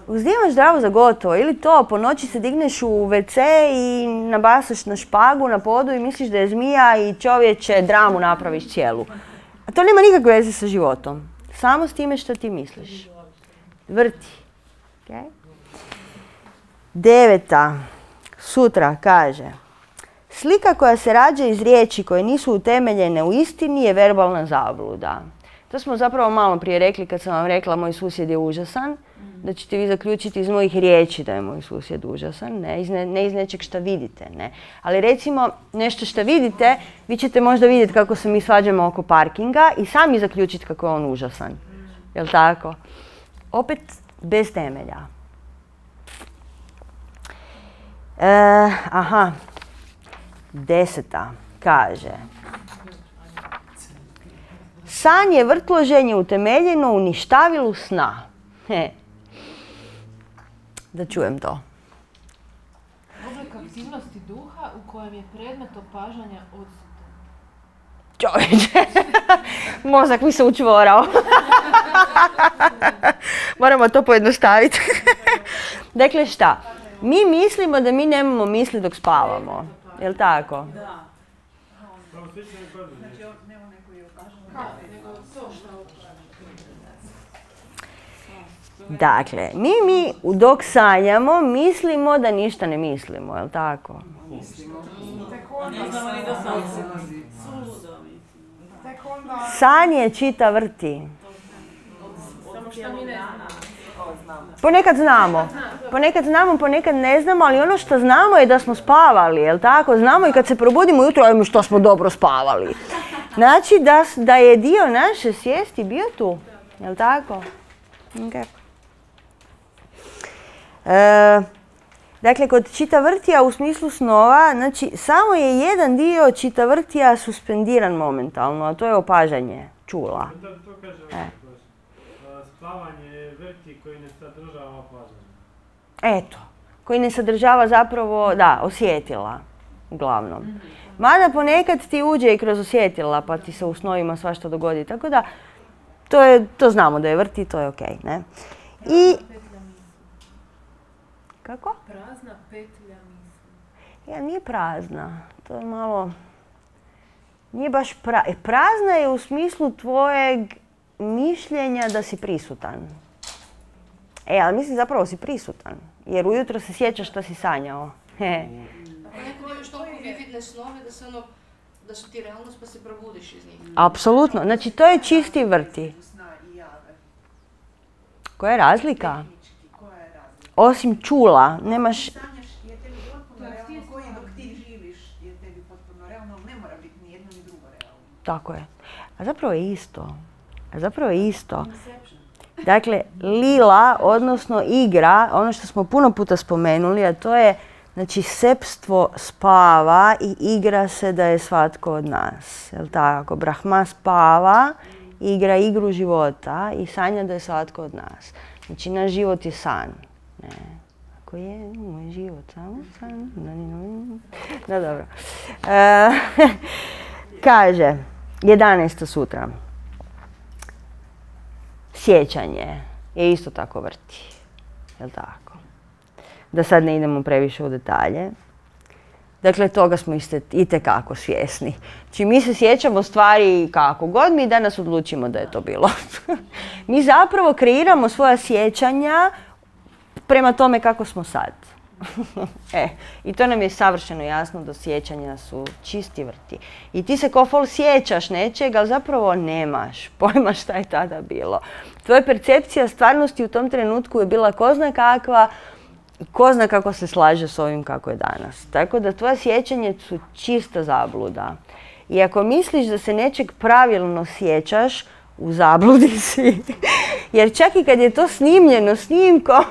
Uzimaš zdravo za gotovo. Ili to, po noći se digneš u WC i nabasaš na špagu na podu i misliš da je zmija i čovječe dramu napraviš cijelu. A to nema nikakve veze sa životom. Samo s time što ti misliš. Vrti. Okay? 9. sutra kaže: slika koja se rađa iz riječi koje nisu utemeljene u istini je verbalna zabluda. To smo zapravo malo prije rekli kad sam vam rekla moj susjed je užasan. Da ćete vi zaključiti iz mojih riječi da je moj susjed užasan, ne iz nečeg što vidite. Ne. Ali recimo nešto što vidite, vi ćete možda vidjeti kako se mi svađamo oko parkinga i sami zaključiti kako je on užasan. Jel' tako? Opet bez temelja. 10. kaže: san je vrtloženje utemeljeno u ništavilu sna. Da čujem to. Oblik aktivnosti duha u kojem je predmet opažanja odsutan. Čovječe, mozak mi se učvorao. Moramo to pojednostaviti. Dakle, šta? Mi mislimo da mi nemamo misli dok spavamo. Jel' tako? Da. Znači, nema neko je okaženo. Nego to što Dakle, mi dok sanjamo mislimo da ništa ne mislimo, jel' tako? San je čita vrti. Ponekad znamo, ponekad ne znamo, ali ono što znamo je da smo spavali, jel' tako? Znamo i kad se probudimo ujutro, ajmo što smo dobro spavali. Znači da je dio naše svijesti bio tu, jel' tako? Okay. Dakle, kod čitavrtija u smislu snova, znači samo je jedan dio čitavrtija suspendiran momentalno, a to je opažanje čula. To kaže spavanje je vrti koji ne sadržava opažanje. Eto, koji ne sadržava zapravo, da, osjetila, uglavnom. Mada ponekad ti uđe i kroz osjetila, pa ti se u snovima svašta dogodi, tako da to znamo da je vrti, to je okej, ne? I... Kako? Prazna petlja misli. Nije prazna, to je malo... Nije baš prazna je u smislu tvojeg mišljenja da si prisutan. Ali mislim zapravo si prisutan, jer ujutro se sjećaš što si sanjao. Ako neko imaš toliko vividne snove da su ti realnost pa se probudiš iz njih. Apsolutno, znači to je čisti vrti. Koja je razlika? Osim čula, nemaš... Sanjaš je tebi potpuno realno, koji dok ti živiš je tebi potpuno realno, ali ne mora biti ni jedno ni drugo realno. Tako je. A zapravo je isto. Dakle, lila, odnosno igra, ono što smo puno puta spomenuli, a to je Znači, sepstvo spava i igra se da je svatko od nas. Jel' tako? Brahma spava, igra igru života i sanja da je svatko od nas. Znači, naš život je san. Ne. Ako je moj život samo san. No, dobro. Kaže, 11. sutra. Sjećanje je isto tako vrti. Jel' tako? Da sad ne idemo previše u detalje. Dakle, toga smo itekako svjesni. Znači, mi se sjećamo stvari kako god mi danas odlučimo da je to bilo. Mi zapravo kreiramo svoja sjećanja prema tome kako smo sad. I to nam je savršeno jasno da sjećanja su čisti vrti. I ti se ko fol sjećaš nečega, ali zapravo nemaš pojma šta je tada bilo. Tvoja percepcija stvarnosti u tom trenutku je bila ko zna kakva, ko zna kako se slaže s ovim kako je danas. Tako da tvoja sjećanje su čista zabluda. I ako misliš da se nečeg pravilno sjećaš, u zabludi si. Jer čak i kad je to snimljeno snimkom,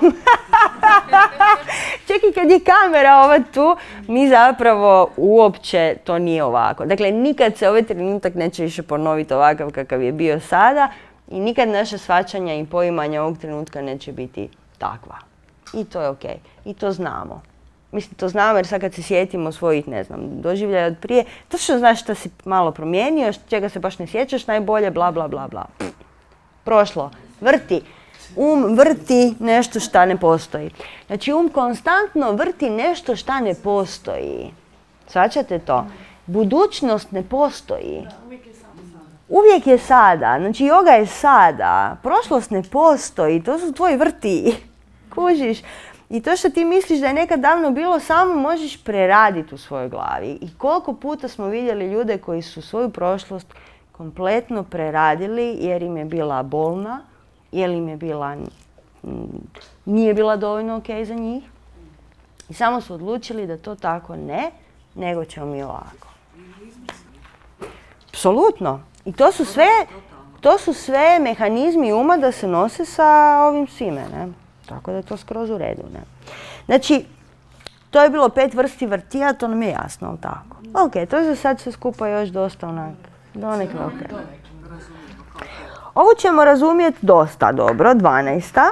čak i kad je kamera ova tu, mi zapravo uopće to nije ovako. Dakle, nikad se ovaj trenutak neće više ponoviti ovakav kakav je bio sada i nikad naše shvaćanja i poimanja ovog trenutka neće biti takva. I to je okej. I to znamo. Mislim, to znamo jer sad kad se sjetimo svojih, ne znam, doživljaja od prije, točno znaš što si malo promijenio, čega se baš ne sjećaš najbolje, bla, bla, bla, bla. Prošlo. Vrti. Vrti nešto šta ne postoji. Znači, konstantno vrti nešto šta ne postoji. Shvaćate to? Budućnost ne postoji. Uvijek je sada. Znači, yoga je sada. Prošlost ne postoji. To su tvoji vrti. Kužiš? I to što ti misliš da je nekad davno bilo, samo možeš preraditi u svojoj glavi. I koliko puta smo vidjeli ljude koji su svoju prošlost kompletno preradili jer im je bila bolna, jer im je bila, nije bila dovoljno ok za njih. I samo su odlučili da to tako ne, nego ćemo mi ovako. Apsolutno. I to su sve mehanizmi uma da se nose sa ovim svime, ne? Tako da je to skroz u redu, ne? Znači, to je bilo 5 vrsti vrtija, to nam je jasno, ali tako. Ok, to je za sad sve skupa još dosta onak, donekle ok. Ovo ćemo razumjeti dosta dobro, 12.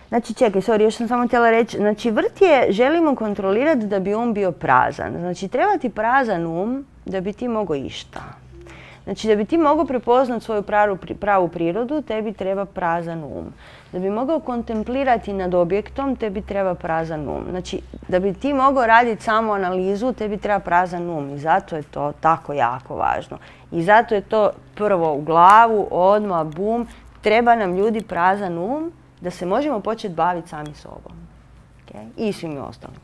Znači, čekaj, sorry, još sam samo htjela reći. Znači, vrtije želimo kontrolirati da bi um bio prazan. Znači, treba ti prazan um da bi ti mogao išta. Znači, da bi ti mogao prepoznat svoju pravu prirodu, tebi treba prazan um. Da bi mogao kontemplirati nad objektom, tebi treba prazan um. Znači, da bi ti mogao raditi samo analizu, tebi treba prazan um. I zato je to tako jako važno. I zato je to prvo u glavu, odmah, bum. Treba nam ljudi prazan um da se možemo početi baviti sami sobom. Okay? I svim ostalima.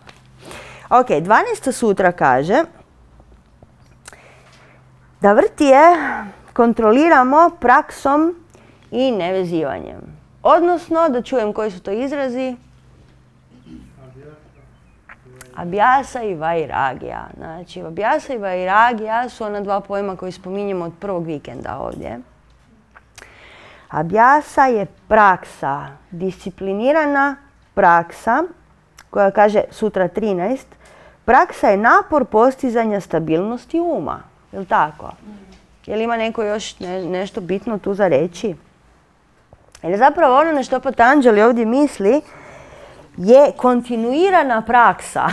Ok, 12. sutra kaže da vrtije kontroliramo praksom i nevezivanjem. Odnosno, da čujem koji su to izrazi. Abhyasa i vairagija. Znači, abhyasa i vairagija su ona dva pojma koji spominjemo od prvog vikenda ovdje. Abhyasa je praksa, disciplinirana praksa, koja kaže sutra 13, praksa je napor postizanja stabilnosti uma. Je li tako? Je li ima neko još nešto bitno tu za reći? Jer zapravo ono na što Patanjali ovdje misli je kontinuirana praksa.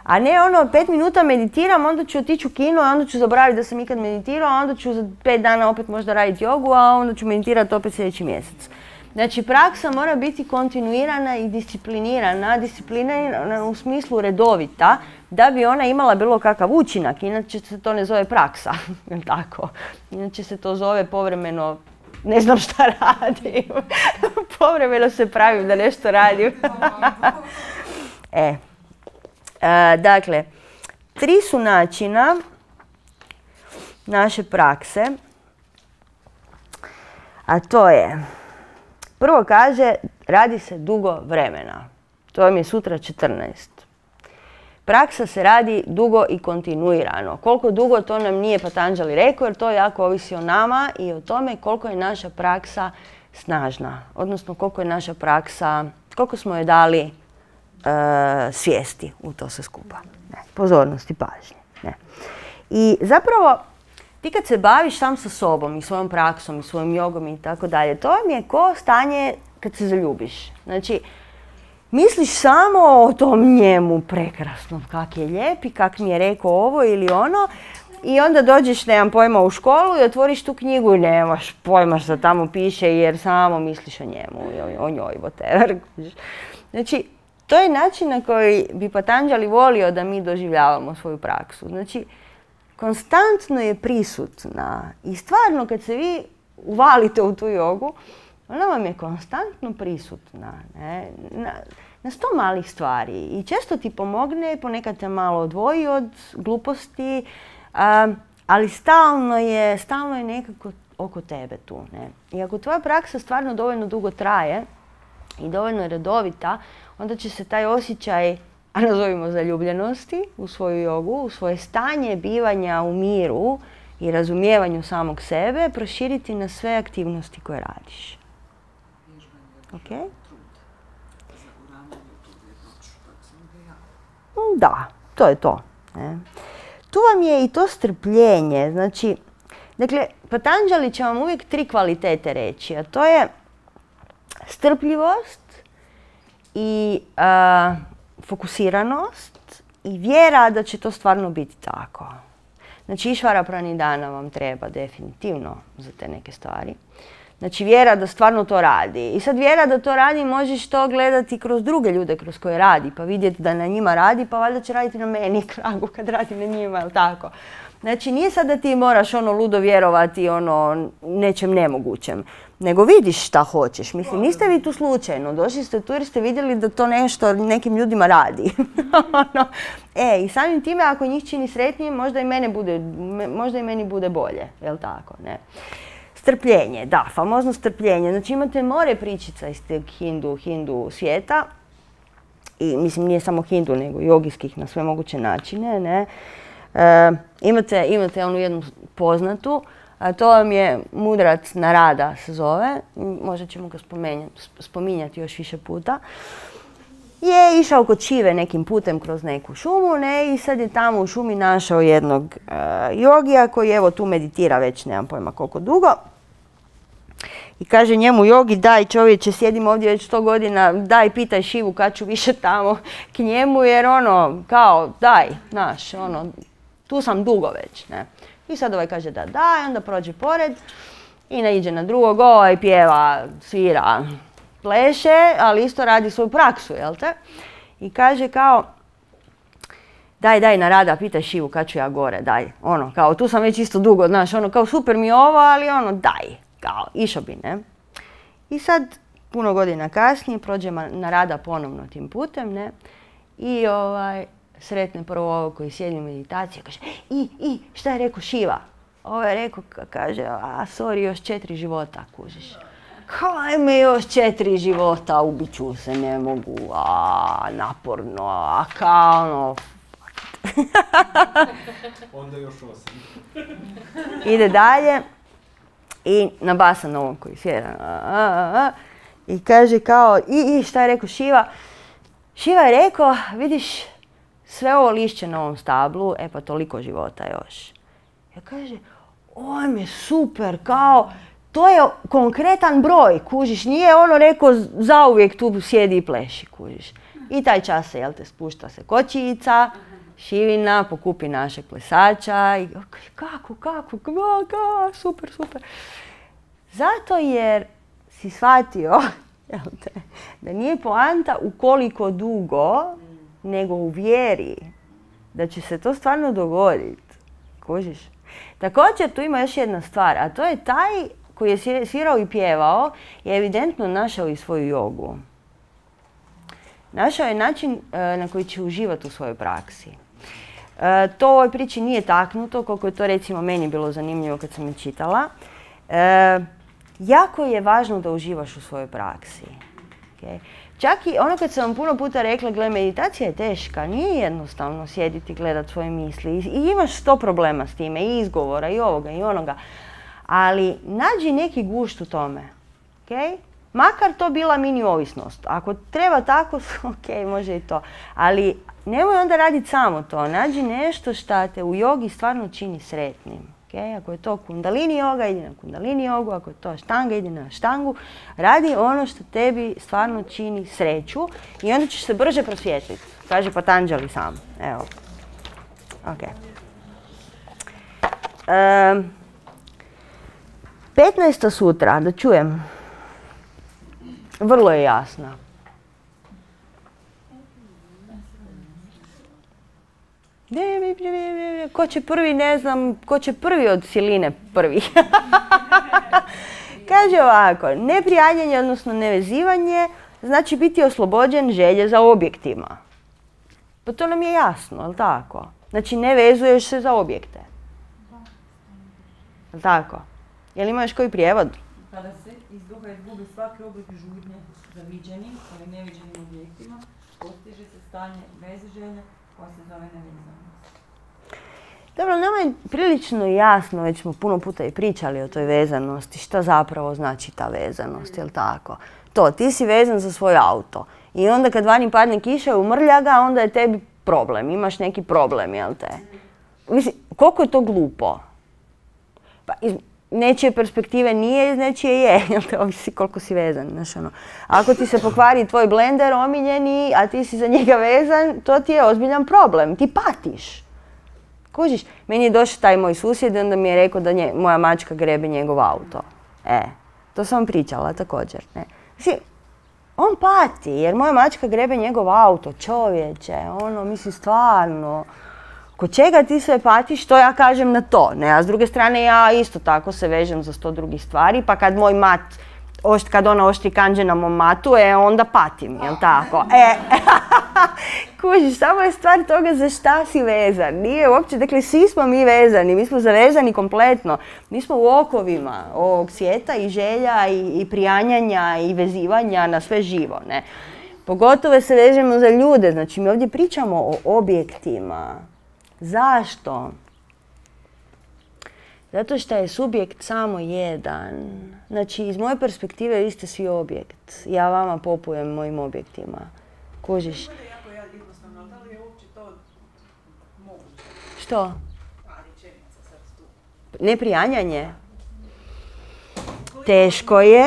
A ne ono 5 minuta meditiram, onda ću otići u kino, a onda ću zaboraviti da sam ikad meditirao, a onda ću za 5 dana opet možda raditi jogu, a onda ću meditirati opet sljedeći mjesec. Znači, praksa mora biti kontinuirana i disciplinirana. Disciplinirana u smislu redovita, da bi ona imala bilo kakav učinak. Inače se to ne zove praksa. Tako. Inače se to zove povremeno, ne znam šta radim. Povremeno se pravim da nešto radim. Dakle, 3 su načina naše prakse. A to je, prvo kaže, radi se dugo vremena. To vam je sutra 14. Praksa se radi dugo i kontinuirano. Koliko dugo, to nam nije Patanjali rekao, jer to jako ovisi o nama i o tome koliko je naša praksa snažna. Odnosno, koliko je naša praksa koliko smo joj dali svijesti u to sve skupa. Ne, pozornosti, pažnje. Ne. I zapravo, ti kad se baviš sam sa sobom i svojom praksom i svojom jogom i tako dalje, to vam je ko stanje kad se zaljubiš. Znači, misliš samo o tom njemu prekrasnom, kak je lijep i kak mi je rekao ovo ili ono, i onda dođeš, nemam pojma, u školu i otvoriš tu knjigu i nemaš pojma što tamo piše jer samo misliš o njemu, o njoj, whatever. Znači, to je način na koji bi Patanjali volio da mi doživljavamo svoju praksu. Znači, konstantno je prisutna i stvarno kad se vi uvalite u tu jogu, ona vam je konstantno prisutna, ne? Na 100 malih stvari i često ti pomogne, ponekad te malo odvoji od gluposti, ali stalno je nekako oko tebe tu. Ne? I ako tvoja praksa stvarno dovoljno dugo traje i dovoljno je redovita, onda će se taj osjećaj, a nazovimo zaljubljenosti u svoju jogu, u svoje stanje bivanja u miru i razumijevanju samog sebe, proširiti na sve aktivnosti koje radiš. Okay? Da, to je to. Ne? Tu vam je i to strpljenje. Znači, dakle, Patanjali će vam uvijek 3 kvalitete reći, a to je strpljivost i fokusiranost i vjera da će to stvarno biti tako. Znači, Išvara Pranidana vam treba definitivno za te neke stvari. Znači, vjera da stvarno to radi. I sad vjera da to radi možeš to gledati kroz druge ljude kroz koje radi, pa vidjeti da na njima radi, pa valjda će raditi na meni kragu kad radi na njima, jel tako? Znači, nije sad da ti moraš ludo vjerovati nečem nemogućem, nego vidiš šta hoćeš. Mislim, niste vi tu slučajno, došli ste tu jer ste vidjeli da to nešto nekim ljudima radi. I samim time, ako njih čini sretnijim, možda i meni bude bolje, jel tako, ne? Strpljenje, da, famozno strpljenje. Znači, imate more pričica iz teg hindu svijeta. I, mislim, nije samo hindu, nego jogijskih na sve moguće načine, ne? Imate onu jednu poznatu, a to vam je mudrac Narada se zove. Možda ćemo ga spominjati još više puta. Je išao kod Šive nekim putem kroz neku šumu, ne, i sad je tamo u šumi našao jednog jogija koji evo tu meditira već nemam pojma koliko dugo. I kaže njemu jogi, daj čovječe, sjedim ovdje već 100 godina, daj pitaj Šivu kad ću više tamo k njemu jer kao daj, znaš, tu sam dugo već, ne. I sad ovaj kaže da daj, onda prođe pored i naiđe na drugog, ovaj pjeva, svira, pleše, ali isto radi svoju praksu, jel te? I kaže kao, daj Narada, pitaj Šivu kad ću ja gore, daj. Kao tu sam već isto dugo, znaš, kao super mi je ovo, ali daj, kao išao bi, ne? I sad, puno godina kasnije, prođe Narada ponovno tim putem, ne? I sretne prvo ovo koji sjedi u meditaciji, kaže, šta je rekao Šiva? Ovo je rekao, kaže, sorry, još 4 života, kužiš. Hajme još 4 života, ubit ću se, ne mogu, naporno, kao Onda još 8. Ide dalje i nabasa na ovom koji sjeda. I kaže kao, šta je rekao Šiva? Šiva je rekao, vidiš, sve ovo lišće na ovom stablu, pa toliko života još. Ja kaže, ojme, super, kao, to je konkretan broj, kužiš, nije rekao zauvijek tu sjedi i pleši, kužiš. I taj čas se, spušta se kočica, Šivina, pokupi našeg plesača i kako, super. Zato jer si shvatio, da nije poanta u koliko dugo, nego u vjeri da će se to stvarno dogoditi, kužiš. Također tu ima još jedna stvar, a to je taj koji je svirao i pjevao je evidentno našao i svoju jogu. Našao je način na koji će uživati u svojoj praksi. To u ovoj priči nije taknuto, koliko je to recimo meni bilo zanimljivo kad sam je čitala. Jako je važno da uživaš u svojoj praksi. Okay? Čak i kad sam vam puno puta rekla, gle, meditacija je teška, nije jednostavno sjediti i gledati svoje misli. I imaš 100 problema s time, i izgovora, i ovoga, i onoga. Ali nađi neki gušt u tome. Okay? Makar to bila mini ovisnost. Ako treba tako, ok, može i to. Ali nemoj onda raditi samo to. Nađi nešto što te u jogi stvarno čini sretnim. Okay? Ako je to kundalini joga, idi na kundalini jogu. Ako je to štanga, idi na štangu. Radi ono što tebi stvarno čini sreću i onda ćeš se brže prosvjetliti. Kaže Patanjali sam. Evo. Ok. 15. sutra, da čujem. Vrlo je jasna. Ko će prvi, ne znam, ko će prvi od siline prvi. Kaže ovako, neprijanjanje, odnosno nevezivanje, znači biti oslobođen želje za objektima. Pa to nam je jasno, jel' tako? Znači ne vezuješ se za objekte. Jel' tako? Jel' imaš koji prijevod? Kada se iz duha izgubi svaki oblik žudnje za viđenim, ali neviđenim objektima, postiže se stanje bez želje koja se zove nevezanost. Dobro, nama je prilično jasno, već smo puno puta i pričali o toj vezanosti, šta zapravo znači ta vezanost, jel' tako? To, ti si vezan za svoj auto i onda kad vani padne kiša i umrlja ga, onda je tebi problem, imaš neki problem, jel' te? Mislim, koliko je to glupo? Pa iz nečije perspektive nije, iz nečije je, jel' te, ovisi koliko si vezan, znaš ono. Ako ti se pokvari tvoj blender omiljeni, a ti si za njega vezan, to ti je ozbiljan problem, ti patiš. Kužiš, meni je došao taj moj susjed i onda mi je rekao da moja mačka grebe njegov auto. To sam vam pričala također. Ne. Mislim, on pati jer moja mačka grebe njegov auto, čovječe, ono, mislim stvarno. Kod čega ti sve patiš, što ja kažem na to? Ne, a s druge strane ja isto tako se vežem za 100 drugih stvari, pa kad moj mat, kad ona oštri kanđe na mom matu, onda patim, jel' tako? Kužiš, samo je stvar toga za šta si vezan. Nije uopće, dakle, svi smo mi vezani, mi smo zavezani kompletno. Mi smo u okovima ovog svijeta i želja i prijanjanja i vezivanja na sve živo, ne? Pogotovo se vežemo za ljude, znači mi ovdje pričamo o objektima. Zašto? Zato što je subjekt samo jedan. Znači, iz moje perspektive vi ste svi objekt. Ja vama popujem mojim objektima. Kužiš? Da li je uopće to moguće? Što? Neprijanjanje? Teško je.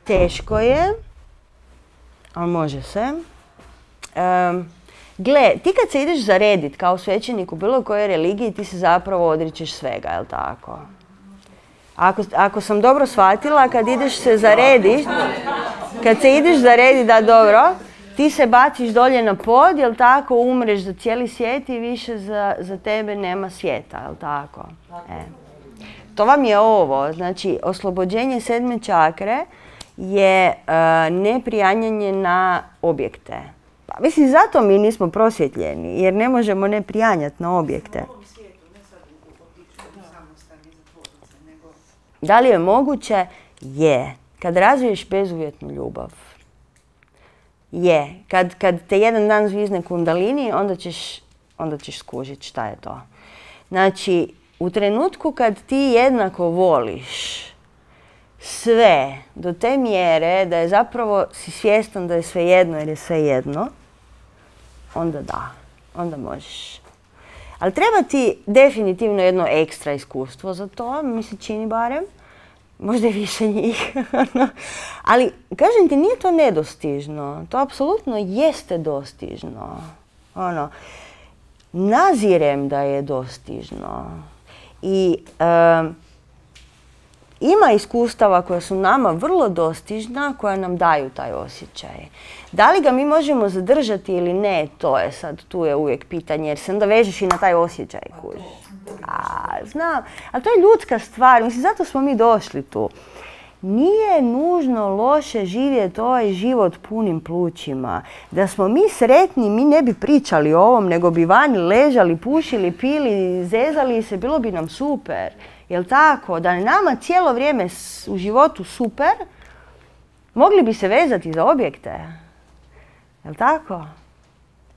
Teško je. Ali može se. Gle, ti kad se ideš zaredit kao svećenik u bilo kojoj religiji, ti se zapravo odričeš svega, jel' tako? Ako sam dobro shvatila, kad ideš se zaredit, kad se ideš zaredit, da dobro, ti se baciš dolje na pod, jel' tako, umreš za cijeli svijet i više za tebe nema svijeta, jel' tako? To vam je ovo, znači oslobođenje 7. čakre je neprijanjanje na objekte. Pa, mislim, zato mi nismo prosvjetljeni, jer ne možemo ne prijanjati na objekte. Da li je moguće? Je. Kad razviješ bezuvjetnu ljubav. Je. Kad te jedan dan zvizne kundalini, onda ćeš skužiti šta je to. Znači, u trenutku kad ti jednako voliš sve do te mjere da je zapravo si svjestan da je sve jedno jer je sve jedno, onda da, onda možeš. Ali treba ti definitivno jedno ekstra iskustvo za to, mi se čini barem, možda i više njih. Ali, kažem ti, nije to nedostižno, to apsolutno jeste dostižno. Nazirem da je dostižno. I ima iskustava koja su nama vrlo dostižna, koja nam daju taj osjećaj. Da li ga mi možemo zadržati ili ne, to je sad, tu je uvijek pitanje, jer se onda vežeš i na taj osjećaj, kužiš. Znam, ali to je ljudska stvar, mislim, zato smo mi došli tu. Nije nužno loše živjeti ovaj život punim plućima. Da smo mi sretni, mi ne bi pričali o ovom, nego bi vani ležali, pušili, pili, zezali se, bilo bi nam super. Jel' tako? Da je nama cijelo vrijeme u životu super, mogli bi se vezati za objekte. Jel' tako?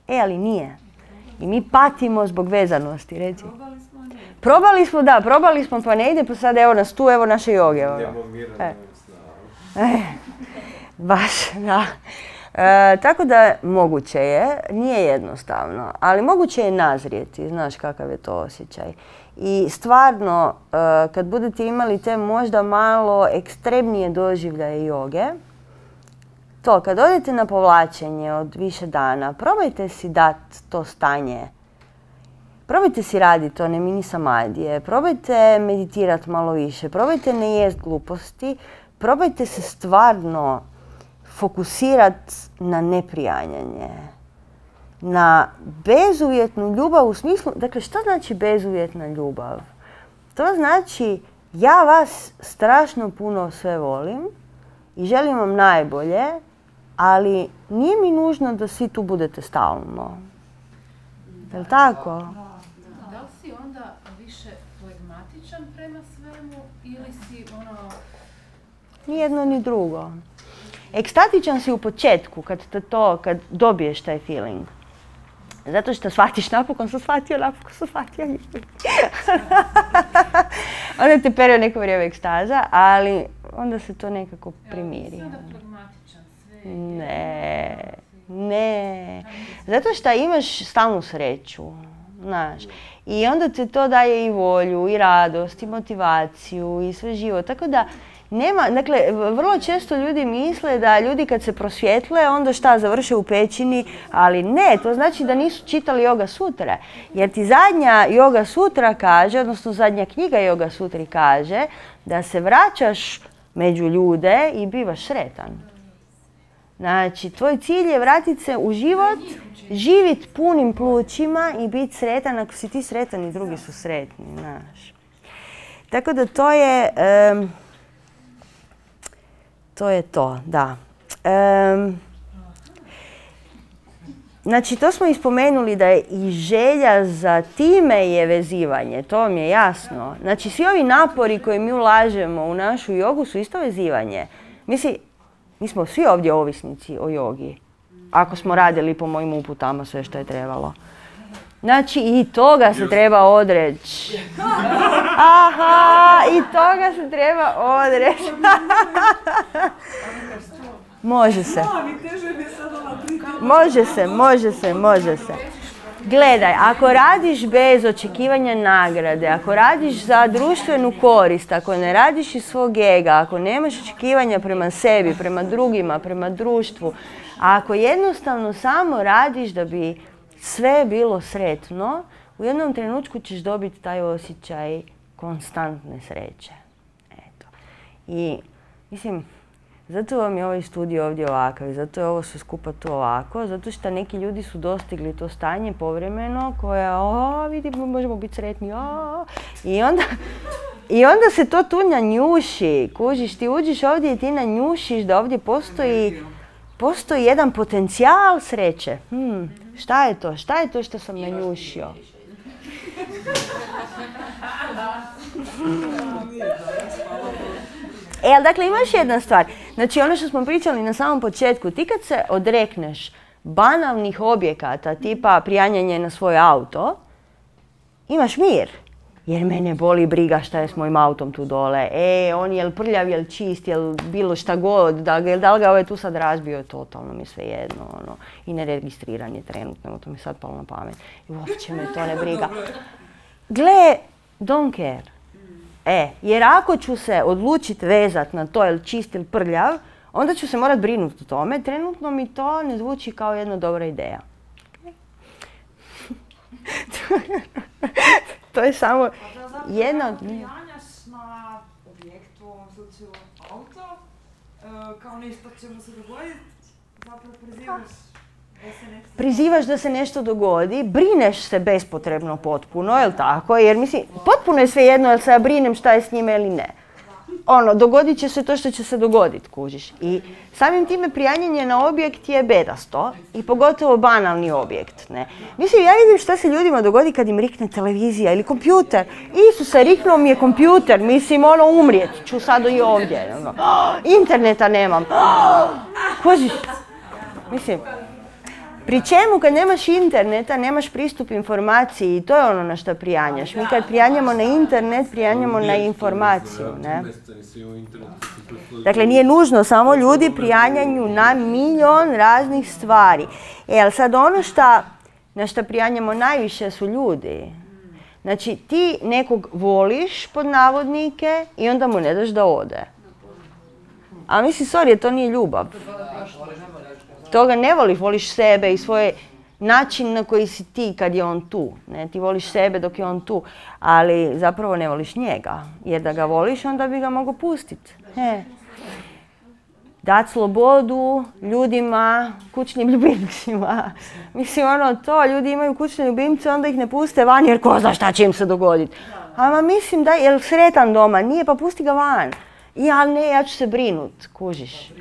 Ali nije. I mi patimo zbog vezanosti, reci. probali smo pa ne ide, pa sad evo nas tu, evo naše joge. Nemo mira, nemo sna. Baš, da. Tako da moguće je, nije jednostavno, ali moguće je nazrijeti, znaš kakav je to osjećaj. I stvarno, kad budete imali te možda malo ekstremnije doživljaje joge, to, kad odete na povlačenje od više dana, probajte si dati to stanje. Probajte si raditi one mini samadije, probajte meditirati malo više, probajte ne jest gluposti, probajte se stvarno fokusirati na neprijanjanje, na bezuvjetnu ljubav u smislu, dakle što znači bezuvjetna ljubav? To znači ja vas strašno puno sve volim i želim vam najbolje, ali nije mi nužno da svi tu budete stalno. Je li tako? Da li si onda više flegmatičan prema svemu ili si Ni jedno ni drugo. Ekstatičan si u početku kad dobiješ taj feeling. Zato što shvatiš, napokon sam shvatio. Onda te pere neko vrijeme ekstaza, ali onda se to nekako primiri. onda flegmatičan sve? Ne. Zato što imaš stalnu sreću, znaš. I onda te to daje i volju, i radost, i motivaciju, i sve živo. Tako da nema, dakle, vrlo često ljudi misle da ljudi kad se prosvjetle, onda šta, završe u pećini, ali ne, to znači da nisu čitali Yoga Sutre. Jer ti zadnja Yoga Sutra kaže, odnosno zadnja knjiga Yoga Sutri kaže, da se vraćaš među ljude i bivaš sretan. Znači, tvoj cilj je vratiti se u život, živjeti punim plućima i biti sretan. Ako si ti sretan i drugi su sretni, znaš. Tako da to je to, da. Znači, to smo ispomenuli da je i želja za time je vezivanje, to vam je jasno. Znači, svi ovi napori koje mi ulažemo u našu jogu su isto vezivanje. Mislim, mi smo svi ovdje ovisnici o jogi. Ako smo radili po mojim uputama sve što je trebalo. Znači, i toga se treba odreći. Aha, i toga se treba odreći. Može se. Može se. Gledaj, ako radiš bez očekivanja nagrade, ako radiš za društvenu korist, ako ne radiš iz svog ega, ako nemaš očekivanja prema sebi, prema drugima, prema društvu, a ako jednostavno samo radiš da bi sve bilo sretno, u jednom trenutku ćeš dobiti taj osjećaj konstantne sreće. Eto. I, mislim, zato vam je ovaj studio ovdje ovakav i zato je ovo sve skupa tu ovako, zato što neki ljudi su dostigli to stanje povremeno koje, vidimo, možemo biti sretni, I onda se to tu nanjuši, kužiš, ti uđeš ovdje i ti nanjušiš da ovdje postoji jedan potencijal sreće. Šta je to? Šta je to što sam nanjušio? Ali dakle imaš jedna stvar. Znači ono što smo pričali na samom početku, ti kad se odrekneš banalnih objekata tipa prijanjanje na svoj auto, imaš mir. Jer mene boli briga šta je s mojim autom tu dole. On je li prljav, je li čist, je li bilo šta god, da li ga ovaj tu sad razbio, totalno mi sve jedno. I neregistriran je trenutno, to mi sad palo na pamet. I uopće me to ne briga. Gle, don't care. Jer ako ću se odlučiti vezat na to je li čist ili prljav, onda ću se morat brinuti o tome. Trenutno mi to ne zvuči kao jedna dobra ideja. To je samo jedna od njih. Prijanjaš na objektu, u ovom slučaju auto, kao nešto će mu se dogoditi, zapravo prizivaš da se nešto dogodi, brineš se bespotrebno potpuno, je li tako? Jer mislim, potpuno je svejedno jel se ja brinem šta je s njime ili ne. Dogodit će se to što će se dogoditi, kužiš. I samim time prijanjanje na objekt je bedasto i pogotovo banalni objekt. Ne? Mislim, ja vidim šta se ljudima dogodi kad im rikne televizija ili kompjuter. Isuse, riknuo mi je kompjuter, mislim, umrijet ću sad i ovdje. Interneta nemam. Kužiš, mislim, Pri čemu kad nemaš interneta, nemaš pristup informaciji i to je ono na što prijanjaš. Mi kad prijanjamo na internet, prijanjamo na informaciju. Ne? Dakle, nije nužno, samo ljudi prijanjanju na milion raznih stvari. Ali sad ono na što prijanjamo najviše su ljudi. Znači, ti nekog voliš, pod navodnike, i onda mu ne daš da ode. A mislim, sorry, to nije ljubav. Toga ne voliš, voliš sebe i svoj način na koji si ti kad je on tu. Ne? Ti voliš sebe dok je on tu, ali zapravo ne voliš njega. Jer da ga voliš, onda bi ga mogao pustiti. Dati slobodu ljudima, kućnim ljubimcima. Mislim, ljudi imaju kućne ljubimce, onda ih ne puste van jer ko zna šta će im se dogoditi. Ama mislim da je sretan doma, nije, pa pusti ga van. Ali ne, ja ću se brinut, kužiš.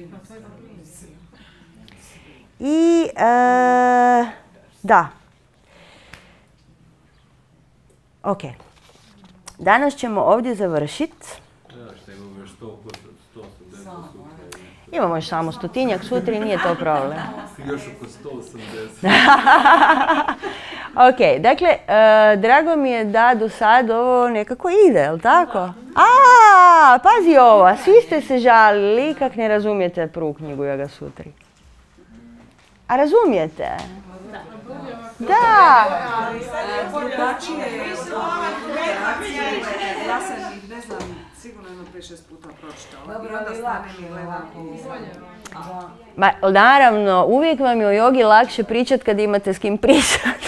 I, da. Ok. Danas ćemo ovdje završiti. Imamo još samo 100-tinjak sutra i nije to problem. Još oko 180. Ok, dakle, drago mi je da do sad ovo nekako ide, jel' tako? Pazi ovo, svi ste se žalili kak ne razumijete prvu knjigu Yoga Sutri. A razumijete? Da! Ja sam ih, ne znam, sigurno 5-6 puta pročitala. I onda stanem i gledam. Naravno, uvijek vam je o jogi lakše pričat kad imate s kim pričat.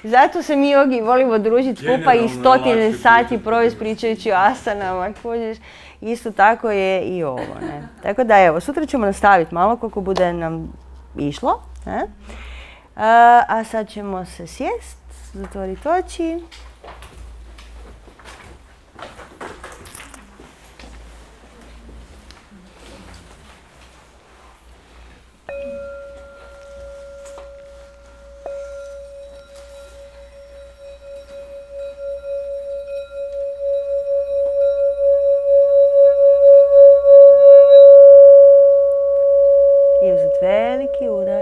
Zato se mi jogi volimo družiti skupa i 100 sati provesti pričajući o asanama. Isto tako je i ovo. Ne? Tako da evo, sutra ćemo nastaviti malo koliko bude nam išlo. Ne? A sad ćemo se sjest, zatvoriti oči. I uzeti veliki udar.